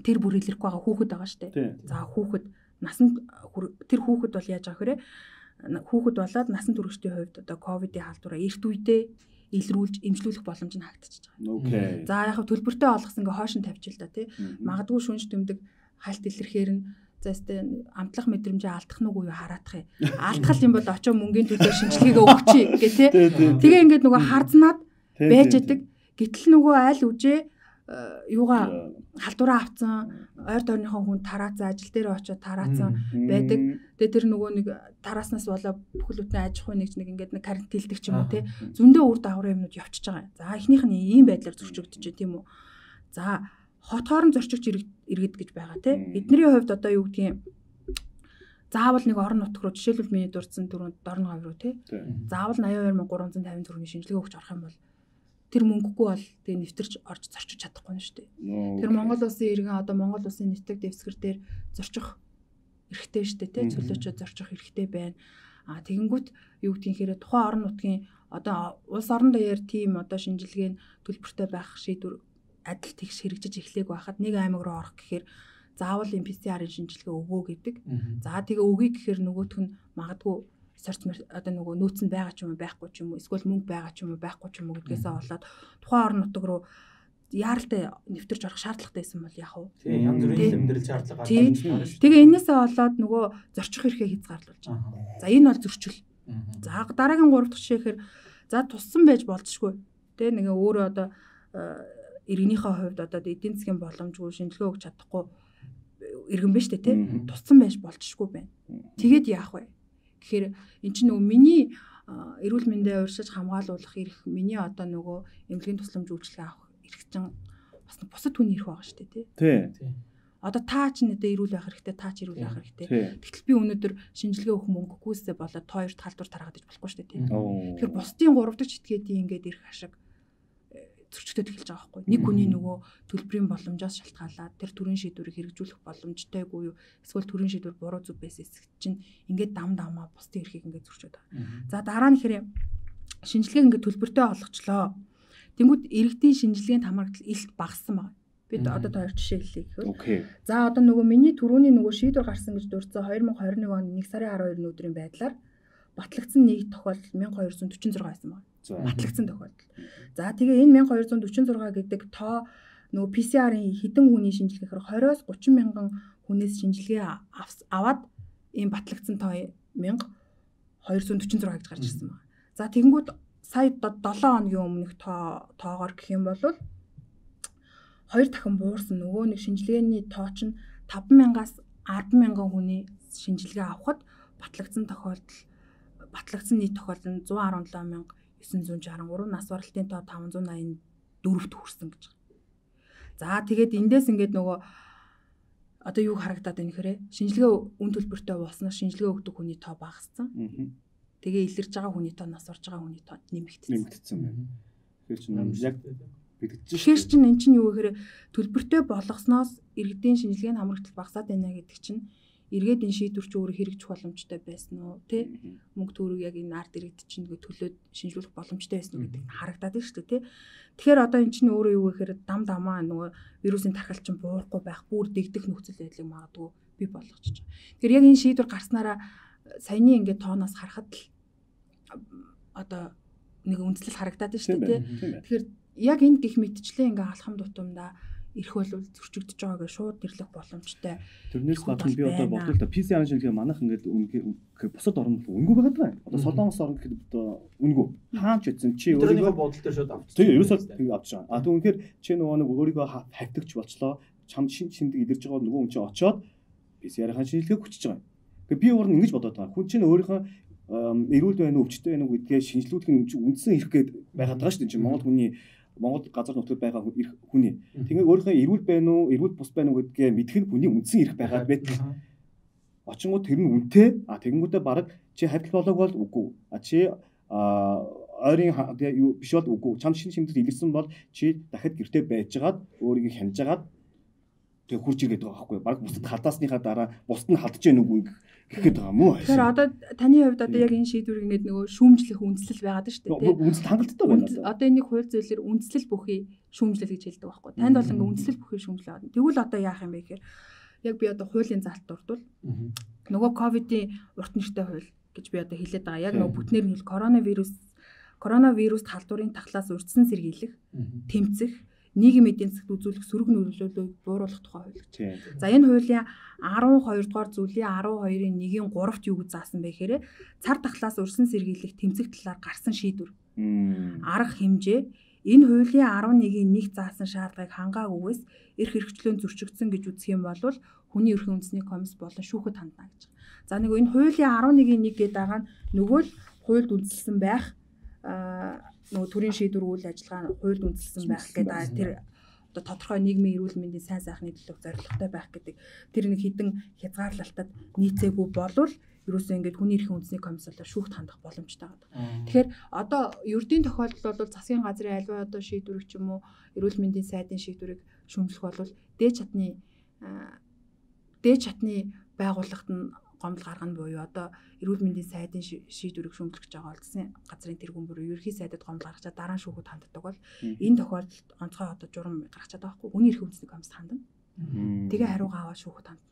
тэр бүр илэрхгүй байгаа хүүхэд байгаа шүү дээ. За, хүүхэд насанд тэр хүүхэд бол яаж байгаа хэрэг хүүхэд болоод насан туршидтын хувьд одоо ковидын халдвараа эрт үедээ илрүүлж эмчлүүлэх боломж нь хаагдчихж байгаа. За, яг төлбөртэй олгосон ингээ хойш нь тавьчих л да тий. Магадгүй шүнж тэмдэг хальт илэрхээр нь зэстэ амтлах мэдрэмжээ алдах нь үгүй хараадах юм. Алдах юм бол очоо мөнгөний төлөө шинжилгээгээ өгчий гэ тэ. Тэгээ ингээд нөгөө харзнаад байж идэг. Гэтэл нөгөө аль үжээ юугаа халдвараа авцсан ойр дорныхоо хүн тараацсан ажил дээр очоод тараацсан байдаг. Тэгээ тэр нөгөө нэг тарааснаас болоо бүхэл бүтэн аж ахуй нэг ингээд нэг карантинлдэг ч юм уу те. Зөндөө үр дагавар юмнууд явчихж байгаа. За эхнийх нь ийм байдлаар зөрчигдөж тийм үү. За хот хоорон зорчигч иргэд гэж байгаа тийм. Эдний хувьд одоо юу гэдгийг заавал нэг орон нутг руу жишээлбэл миний дурдсан дөрөнд дорн говь руу тийм. Заавал 82350 төгрөгийн шинжилгээ өгч орох юм бол тэр мөнгөгүй бол тэгээ нэвтэрч орж зорчиж чадахгүй нь шүү дээ. Тэр Монгол улсын иргэн одоо Монгол улсын нэтэг дэвсгэр дээр зорчих эрхтэй шүү дээ тийм. Чөлөөчөд зорчих эрхтэй байна. Тэгэнгүүт юу гэдгийг хэрэг тухайн орон нутгийн одоо улс орон даяар тийм одоо шинжилгээ нь төлбөртэй байх шийдвэр адил тэгш хэрэгжиж эхлэх байхад нэг аймаг руу орох гэхээр заавал PCR-ын шинжилгээ өгөө гэдэг. За тэгээ өгье гэхээр нөгөөх нь магадгүй одоо нөгөө нөөц нь байгаа ч юм уу байхгүй ч юм уу эсвэл мөнгө байгаа ч юм уу байхгүй ч юм уу гэдгээсээ болоод тухайн орон нутаг руу яаралтай нэвтэрч орох шаардлагатай байсан бол яах вэ? Тийм янз бүрийн амьдрал шаардлага гарч ирж байна шүү. Тэгээ энээсээ болоод нөгөө зорчих хэрэгээ хязгаарлуулж байгаа. За энэ бол зөрчил. За дараагийн 3 дахь жишээхээр за туссан байж болцшгүй. Тэ нэг өөрөө одоо иргэнийхээ хувьд одоо эдийн засгийн боломжгүй шинжилгээ өгч чадахгүй иргэн биш үү те туссан байж болцшгүй байна. Тэгээд яах вэ? Тэгэхээр эн чинь нөгөө миний эрүүл мэндээ урьдчилж хамгаалуулах эрх миний одоо нөгөө эмнэлгийн тусламж үйлчилгээ авах эрх чинь бас бусад хүний эрх байгаа шүү дээ тий. Одоо та ч нэдэ эрүүл байх хэрэгтэй та ч эрүүл байх хэрэгтэй. Тэгтэл би өнөөдөр шинжилгээ өгөх мөнгөгүйсээ болоод та хоёрт халдвар тараад иж болохгүй шүү дээ тий. Тэгэхээр бусдын 3 дахь этгээдийн ингээд ирэх ашиг зөрчигдөд эхэлж байгаа байхгүй. Нэг хүний нөгөө төлбөрийн боломжоос шалтгаалаад тэр төрийн шийдвэрийг хэрэгжүүлэх боломжтойгүй юу эсвэл төрийн шийдвэр буруу зүв байсан чинь ингээд дам дамаа бусдын эрхийг ингээд зөрчөөд байгаа. За дараа нь хэрэг шинжилгээг ингээд төлбөртэй олгочлоо. Тэнгүүд иргэдийн шинжилгээнд хамрагдал илт багассан байна. Бид одоо та хоёр жишээ хэлье гэхээр. За одоо нөгөө миний түрүүний нөгөө шийдвэр гарсан гэж дурдсан 2021 оны 1 сарын 12-ны өдрийн байдлаар батлагдсан нэг тохиолдол 1246 байсан байна. Батлагдсан тохиолдол. За тэгээ энэ 1246 гэдэг тоо нөгөө PCR-ын хэдэн хүний шинжилгээхээр 20-оос 30 мянган хүнээс шинжилгээ аваад ийм батлагдсан тоо 1246 гэж гарч ирсэн байна. За тэгэнгүүт сая 7 хоногийн өмнөх тоогоор гэх юм бол 2 дахин буурсан нөгөө нэг шинжилгээний тоо чинь 5,000-аас 10,000 хүний шинжилгээ авахад батлагдсан нийт тохиолдол нь 117,963, нас баралтын тоо 584-т хүрсэн гэж. За тэгээд эндээс ингээд нөгөө одоо юу харагдаад байна гэхээр шинжилгээ үн төлбөртэй болсноос шинжилгээ өгдөг хүний тоо багассан. Тэгээ илэрж байгаа хүний тоо нас орж байгаа хүний тоо нэмэгдсэн байна. Тэгэхээр чинь яг тэгэхээр чинь эн чинь юу гэхээр төлбөртэй болгосноос иргэдийн шинжилгээний хамрагдал багасаад байна гэдэг чинь эргээд энэ шийдвэр чи өөрөө хэрэгжих боломжтой байсан уу тий мөнгө төгрөг яг энэ ард иргэд чинь төлөөд шинжлүүлэх боломжтой байсан уу гэдэг нь харагдаад байна шүү дээ тий. Тэгэхээр одоо эн чинь өөрөө юу гэхээр дам дамаа нөгөө вирусын тархалт чинь буурахгүй байх бүр дэгдэх нөхцөл байдлыг магадгүй бий болгочих. Тэгэхээр яг энэ шийдвэр гарснараа саяны ингээд тооноос харахад л одоо нэг үндэслэл харагдаад байна шүү дээ тий. Тэгэхээр яг энэ гих мэдчлээ ингээ алхам тутамдаа ирэх бол зөрчигдөж байгаа гэж шууд нэрлэх боломжтой. Тэрнээс гадна би одоо бодлоо да PCR шинжилгээ манайх ингээд бусад орнд үнгүй байгаад байна. Одоо Солонгос орнд гэхэд одоо үнгүй. Хаанч үтсэн чи өөрийнхөө бодол дээр шууд авчих. Тийм ерөөсөө авч байгаа. А тэгвэл үнэхээр чи нөгөө нэг өөрийгөө хавтагч болчлоо. Чам шиндэг идэрж байгаа нөгөө хүн чи очоод PCR-ын шинжилгээ хүчиж байгаа. Тэгээ би өөр нь ингэж бодоод байгаа. Хүн чинь өөрийнхөө эрүүл байна уу, өвчтэй байна уу гэдгээ шинжилүүлэх нь үндсэн эрх гээд байгаад байгаа шүү дээ. Монгол газар нутгад байгаа хүний. Тэгээ өөрийнхөө эрүүл байна уу, эрүүл бус байна уу гэдгээ мэдэх нь хүний үндсэн эрх байгаад байдаг. Очингууд тэр нь үнэтэй. Тэгэнгүүтээ бараг чи хавтал болоог бол үгүй. Чи ойрын биш бол үгүй. Чам шимдэд илэрсэн бол чи дахиад гэртээ байжгаад өөрийгөө хянажгаад тэгээ хурж иргээд байгаа байхгүй. Бараг бусдад халдаасныхаа дараа бусд нь халдаж яах нүггүй гэхэд байгаа мó. Тэгэхээр одоо таны хувьд одоо яг энэ шийдвэр ингээд нөгөө шүүмжлэх үндслэл байгаад шүү дээ. Үндслэл хангалттай байна. Одоо энийг хууль зүйлээр үндслэл бүхий шүүмжлэл гэж хэлдэг байхгүй. Танд бол ингээд үндслэл бүхий шүүмжлэл байна. Тэгвэл одоо яах юм бэ гэхээр яг би одоо хуулийн залт дурдвал нөгөө ковидын урт нэртэй хууль гэж би одоо хэлээд байгаа. Яг нөгөө бүтнээр нь хэл коронавируст халдварын тахлаас урьдчилан сэргийлэх, тэмцэх, нийгмийн эдийн засагт үзүүлэх сөрөг нөлөөллийг бууруулах тухай хууль гэж. За энэ хуулийн 12 дугаар зүйлийн 12-ийн 1-ийн 3-т юу гэж заасан бэ гэхээр цар тахлаас урьдчилан сэргийлэх тэмцэх талаар гарсан шийдвэр. Арга хэмжээ энэ хуулийн 11-ийн 1 заасан шаардлагыг хангаагүйгээс эрх хэрэгчлөөнд зөрчигдсөн гэж үзэх юм бол хүний эрхийн үндэсний комисс болон шүүхэд хандна гэж. За нэг энэ хуулийн 11-ийн 1 гэдэг байгаа нь нөгөө л хуульд үндэслэн байх нөгөө төрийн шийдвэр үйл ажиллагаа хуульд үндэслэн байх гэдэг тэр одоо тодорхой нийгмийн эрүүл мэндийн сайн сайхны төлөв зорилготой байх гэдэг тэр нэг хідэн хязгаарлалтад нийцээгүй болвол ерөөсөө ингээд хүний эрхийн үндэсний комисс болоо шүүхт хандах боломжтой байгаа. Тэгэхээр одоо ердийн тохиолдол бол засгийн газрын альва одоо шийдвэрийг ч юм уу эрүүл мэндийн сайдын шийдвэрийг шүүмжлэх бол дээд чатны байгууллагт нь гомдол гаргана буюу одоо эрүүл мэндийн сайдын шийдвэрийг шүүмжлэх гэж байгаа улсын газрын тэргүүн бүрийн ерхий сайдад гомдол гаргачаад дараа нь шүүхэд ханддаг бол энэ тохиолдолд онцгой одоо журам гаргачаад байгаа хгүй хүний эрхийн үндэсний комисс хандна. Тэгээ хариугаа аваад шүүхэд хандна.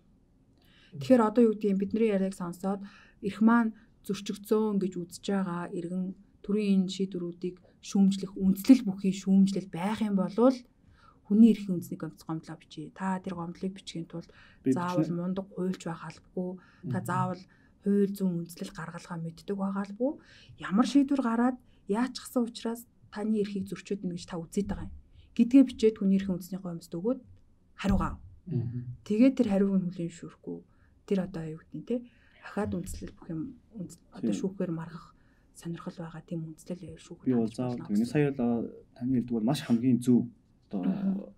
Тэгэхээр одоо юу гэдэг юм бидний яриаг сонсоод эрх маань зөрчигдсөн гэж үзэж байгаа иргэн төрийн энэ шийдвэрүүдийг шүүмжлэх үндслэл бүхий шүүмжлэл байх юм бол хүний эрхийн үндэсний гомдлоо бичээ. Та тэр гомдлыг бичгийн тулд заавал мундаг хуульч байх албагүй. Та заавал хууль зүйн үндслэл гаргалгаа мэддэг байгаа албагүй. Ямар шийдвэр гараад яачихсан учраас таны эрхийг зөрчөөд нэ гэж та үзээд байгаа юм. Гэдгээ бичээд хүний эрхийн үндэсний гомдод өгөөд хариугаа. Тэгээд тэр хариуг нь хүлээн шүүрэхгүй. Тэр одоо юу гэдэг нь те ахаад үндслэл бүх юм одоо шүүхээр маргах сонирхол байгаа тийм үндслэл шүүх. Би бол заавал энэ сая л таны хэлдэг бол маш хамгийн зөв одоо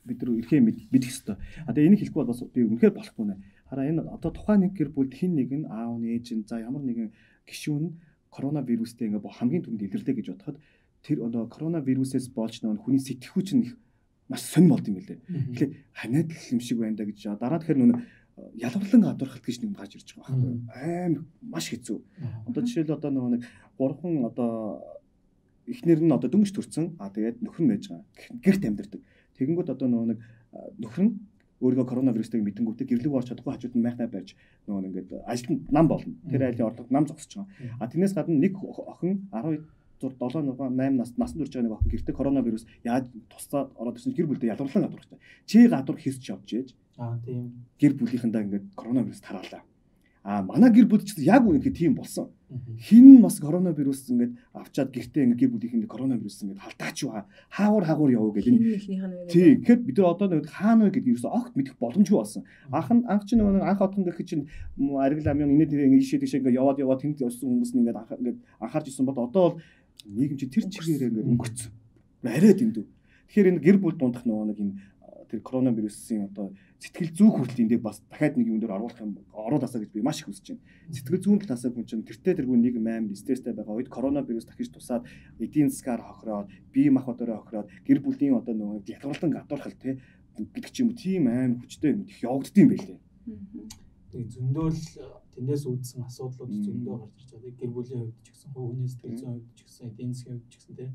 бид нар эрхээ мэдэх ёстой. Тэгээ энийг хэлэхгүй бол бас би үнэхээр болохгүй нэ. Хараа энэ одоо тухайн нэг гэр бүлд хин нэг нь аав нь ээж нь за ямар нэгэн гишүүн коронавирустэй ингээ хамгийн түрүүнд илэрлээ гэж бодоход тэр одоо коронавирусээс болж нөгөө хүний сэтгхүүч нь их маш сонир болд юм билээ. Тэгэхээр ханиад л юм шиг байна да гэж дараа тэгэхээр нөгөө ялварлан гадуурхалт гэж нэг гарч ирж байгаа байхгүй аим маш хэцүү. Одоо жишээл одоо нөгөө нэг гурван одоо эхнэр нь одоо дөнгөж төрсэн тэгээд нөхөр нь байж байгаа. Гэрт амьдардаг. Тэгэнгүүт одоо нөгөө нэг нөхөр нь өөрийгөө коронавирустайг мэдэнгүүтээ гэрлэг орч чадахгүй хажууд нь майхнаа барьж нөгөө ингээд ажилтнад нам болно. Тэр айлын орлого нам зогсож байгаа. А тэрнээс гадна нэг охин 7 насан турш байгаа нэг охин гэртээ коронавирус яаж тусаад ороод ирсэн гэр бүлдээ ялварлан гадуурхтай. Чи гадуур хийсч явж ээж. Тийм. Гэр бүлийнхэндээ ингээд коронавирус тараалаа. Манай гэр бүлд ч яг үнэхээр тийм болсон. Хин бас коронавирус ингээд авчаад гэртээ ингээд гэр бүлийнхэнд коронавирус ингээд халтаач байгаа. Хаагур явуу гэдэг энэ. Тийм. Тэгэхээр бид нар одоо нэг хаана вэ гэдэг ерөөсөө огт мэдэх боломжгүй болсон. Анх чинь нэг анх отхон гэх чинь аргил амын инээд ингээд ишээ тийш ингээд яваад тэнд явсан хүмүүс нь ингээд анхаарч ирсэн бол одоо бол нийгэм чи тэр чигээр ингээд өнгөрцөн. Арай дэндүү. Тэгэхээр энэ гэр бүл дундах нэг юм тэр коронавирусын одоо сэтгэл зүйн хүртэл эндээ бас дахиад нэг юм дээр оруулаасаа гэж би маш их хүсэж байна. Сэтгэл зүйн талаас хүн чинь тэртээ тэргүй нэг амар стресстэй байгаа үед коронавирус дахиж тусаад эдийн засгаар хохироод бие махбодороо хохироод гэр бүлийн одоо нөгөө ялгарлан гадуурхал гэдэг ч юм уу тийм амар хүчтэй юм их явагддсан байлээ. Тэгээ зөндөөл тэндээс үүдсэн асуудлууд зөндөө гарч ирж байгаа. Гэр бүлийн хувьд ч гэсэн, хүний сэтгэл зүйн хувьд ч гэсэн, эдийн засгийн хувьд ч гэсэн тийм.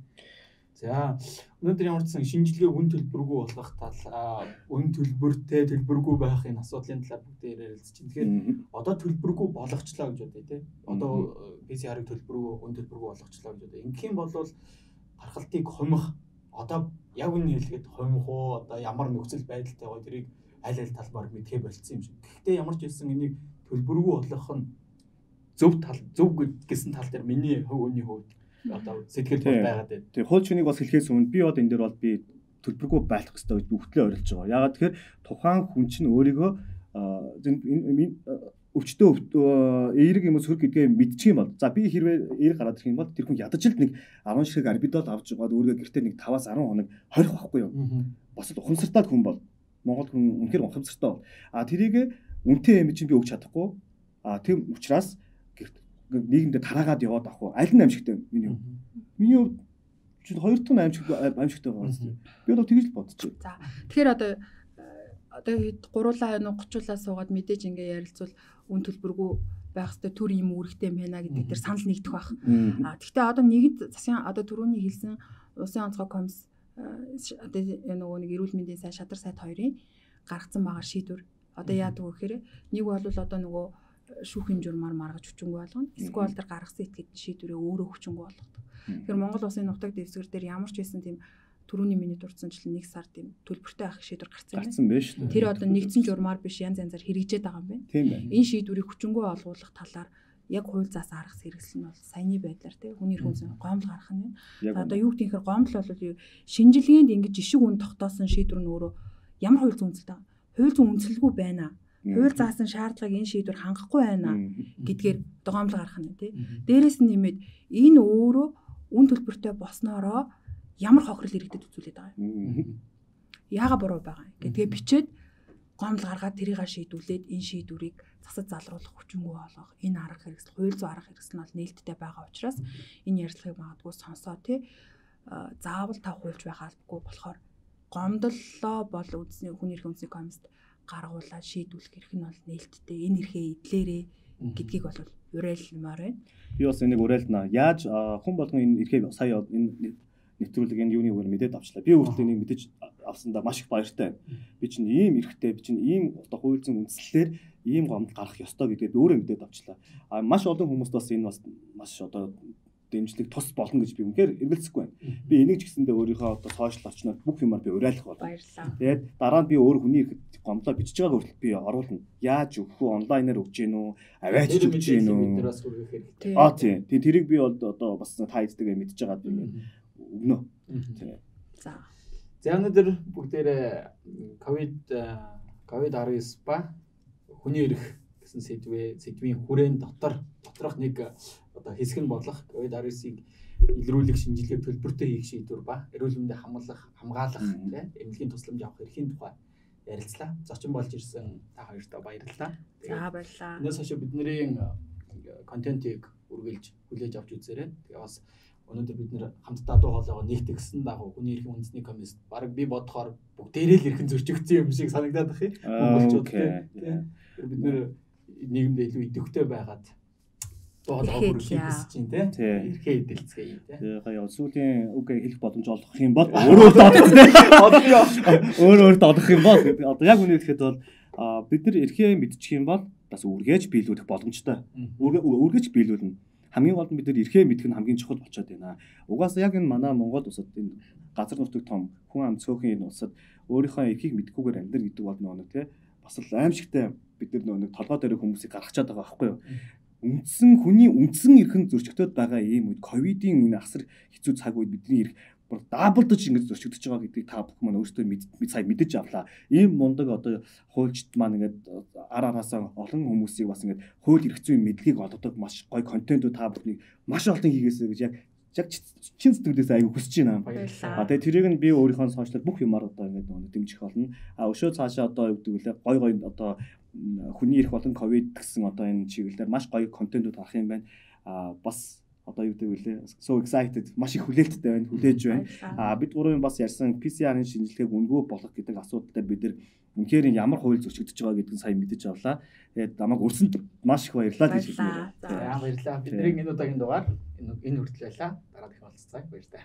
За өнөөдөр ямар ч сан шинжилгээ үн төлбөргүй болгох тал үн төлбөртэй төлбөргүй байхын асуудлын талаар бүгдээр ярилцж байна. Тэгэхээр одоо төлбөргүй болгочлаа гэж бодъё тий. Одоо PCR-ыг төлбөргүй үн төлбөргүй болгочлаа гэж бодъё. Ингэх юм бол гаргалтыг хумих одоо яг үнэ хэлгээд хумих уу одоо ямар нөхцөл байдалтай гоо тэрийг аль талбаар мэдхээ болцсон юм шиг. Гэхдээ ямар ч хэлсэн энийг төлбөргүй болгох нь зөв гэсэн тал дээр миний хувийн хувьд одоо сэтгэл байгаад байна. Тэгээ хууль чинийг бас хэлхээс өмнө би одоо энэ дээр бол би төлбөргүй байлгах хэрэгтэй гэж бүгдлээ орилж байгаа. Ягаад тэгэхээр тухайн хүн чинь өөрийгөө өвчтөө эерэг юм уу сөрөг гэдгээ мэдчих юм бол за би хэрвээ эерэг гараад ирэх юм бол тэр хүн ядаж л нэг 10 ширхэг арбидол авч байгаа өөрийгөө гэртээ нэг 5-10 хоног хорих байхгүй юу? Бас ухамсартай хүн бол Монгол хүн үнэхээр ухамсартай бол тэрийг үнэтэй юм чинь би өгч чадахгүй. Тийм учраас нийгэмдээ тараагаад яваад авах уу? Аль нь аимшигтай миний хувьд? Миний хувьд чинь хоёр дахь аимшигтай байгаа юм. Би одоо тэгж л бодчих. За тэгэхээр одоо гуруулаа 30-уулаа суугаад мэдээж ингээ ярилцвал үн төлбөргүй байх хэвээр төр юм үүрэгтэй юм байна гэдэг дээр санал нэгдэх байх. Гэхдээ одоо нэгд засгийн одоо түрүүний хэлсэн улсын онцгой комисс одоо нөгөө нэг эрүүл мэндийн сайд шадар сайд хоёрын гаргацсан байгаа шийдвэр одоо яадаг вэ гэхээр нэг бол одоо нөгөө шүүхийн журмаар маргаж хүчингүй болгоно. Эсвэл тэр гаргасан этгээдийн шийдвэрээ өөрөө хүчингүй болгодог. Тэгэхээр Монгол улсын нутаг дэвсгэр дээр ямар ч байсан тийм түрүүний миний дурдсанчлан 1 сар тийм төлбөртэй авах шийдвэр гарсан байна шүү дээ. Тэр одоо нэгдсэн журмаар биш янз янзаар хэрэгжээд байгаа юм байна. Тийм байна. Энэ шийдвэрийг хүчингүй олгуулах талаар яг хууль заас аргас хэрэгсэл нь бол саяны байдлаар тийм хүний эрх үндэс гомдол гарах нь байна. Одоо юу гэхээр гомдол бол шинжилгээнд ингэж жишг үн тогтоосон шийдвэр нь өөрөө ямар хууль зүйн үндэслэлтэй хууль зүйн үндэслэлгүй байна. Хууль заасан шаардлагыг энэ шийдвэр хангахгүй байна гэдгээр гомдол гарах нь тийм. Дээрээс нь нэмээд энэ өөрөө үн төлбөртэй болсноороо ямар хохирол иргэдэд үзүүлээд байгаа юм. Яага буруу байгаа юм гэдгээ бичээд гомдол гаргаад тэрийг шийдүүлээд энэ шийдвэрийг засаж залруулах хүчингүй болгох энэ арга хэрэгсэл хууль зүйн арга хэрэгсэл нь бол нээлттэй байгаа учраас энэ ярилцлагыг магадгүй сонсоо тий заавал та хуульч байх албагүй болохоор гомдлоо бол үндэсний хүний эрхийн үндэсний комиссд гаргуулаад шийдвүүлэх эрх нь бол нээлттэй энэ эрхээ эдлээрээ гэдгийг бол уриалмаар байна. Би бас энийг уриалнаа. Яаж хүн болгон энэ эрхээ сая энэ нэвтрүүлэг энэ юуны үгээр мэдээд авчлаа. Би өөртөө энийг мэдэж авсандаа маш их баяртай байна. Би чинь ийм эрхтэй, би чинь ийм одоо хууль зүйн үндслэлээр ийм гомдол гарах ёстой гэдгээ би өөрөө мэдээд авчлаа. А маш олон хүмүүст бас энэ бас маш одоо дэмжлэг тус болно гэж би үнэхээр эргэлзэхгүй байна. Би энийг ч гэсэндээ өөрийнхөө одоо сошиал орчноор бүх юмар би уриалах болно. Тэгээд дараа нь би өөр хүний ирэхэд гомдлоо бичиж байгаа хүртэл би оруулна. Яаж өгөх үү, онлайнаар өгч гин үү, аваач өгч гин үү. Биднээс хүргэх хэрэгтэй. Тийм. Тэрийг би одоо бас та эцтэйгээ мэдж байгаа би өгнө. Тийм. За өнөөдөр бүгдээрээ COVID-19 ба хүний эрх гэсэн сэдвийн хүрээнд доторх нэг одоо хэсэг нь болох COVID-19-ийг илрүүлэх шинжилгээ төлбөртэй хийх шийдвэр ба эрүүл мэндийг хамгаалах эмнэлгийн тусламж авах эрхийн тухай ярилцлаа. Зочин болж ирсэн та хоёртаа баярлалаа. За баярлалаа. Энэс хойш бидний контентыг үргэлж хүлээж авч үзээрэй. Тэгээ бас өнөөдөр бид нэр хамтдаа дуу хоолойгоо нэгтгэсэн дагуу хүний эрхийн үндэсний комисс баг би бодохоор бүгдээрээ л эрхэн зөрчигдсөн юм шиг санагдаад байна. Монголчууд тийм бид нэр нийгэмд илүү идэвхтэй байгаад дуу хоолойгоо хүргэх гэж байна тийм эрхээ эдэлцгээе тийм. Тэгээ сүүлийн үгээр хэлэх боломж олох юм бол өөрөө доодох юм бол одоо яг үнэ хэлэхэд бол бид нар эрхээ мэдчих юм бол бас үргээж биелүүлэх боломжтой. Үргээж биелүүлнэ. Хамгийн гол нь бид нар эрхээ мэдэх нь хамгийн чухал болчиход байна. Угаасаа яг энэ манай Монгол улсад энэ газар нутаг том хүн ам цөөхөн энэ улсад өөрийнхөө эрхийг мэдхгүйгээр амьдрал гэдэг бол нэг тий бас л аимшигтай бид нар нэг толгой дээр хүмүүсийг гаргачаад байгаа байхгүй юу? Хүний үндсэн эрхэн зөрчигдөд байгаа ийм үед ковидын энэ асар хэцүү цаг үед бидний эрх бүр даблдаж ингэж зөрчигдөж байгаа гэдгийг та бүхэн маань өөрсдөө сая мэдэж авлаа. Ийм мундаг одоо хуульчд маань ингээд араасаа олон хүмүүсийг бас ингээд хууль эрх зүйн мэдлэгийг олгодог маш гоё контентууд та бүхнийг маш олон хийгээсэй гэж яг чин сэтгэлээс аягүй хүсэж байна. Тэгээ тэрийг нь би өөрийнхөө сошиалд бүх юмар одоо ингээд дэмжих болно. Өшөө цаашаа одоо юу гэдэг вэ? Гоё одоо хүний эрх болон ковид гэсэн одоо энэ чиглэлээр маш гоё контентууд авах юм байна. Бас одоо юу гэдэг вэ? So excited. Маш их хүлээлттэй байна, хүлээж байна. Бид гурван бас ярьсан PCR-ын шинжилгээг үнгөө болгох гэдэг асуудалтай бид нар үнэхээр ямар хууль зөрчигдөж байгаа гэдгийг сайн мэдэж авлаа. Тэгээд намайг өрсөнд маш их баярлалаа гэж хэлмээр. За баярлалаа. Бидний энэ удаагийн дугаар энэ хүртэл байлаа. Дараа дахин уулзцаая. Баярлалаа.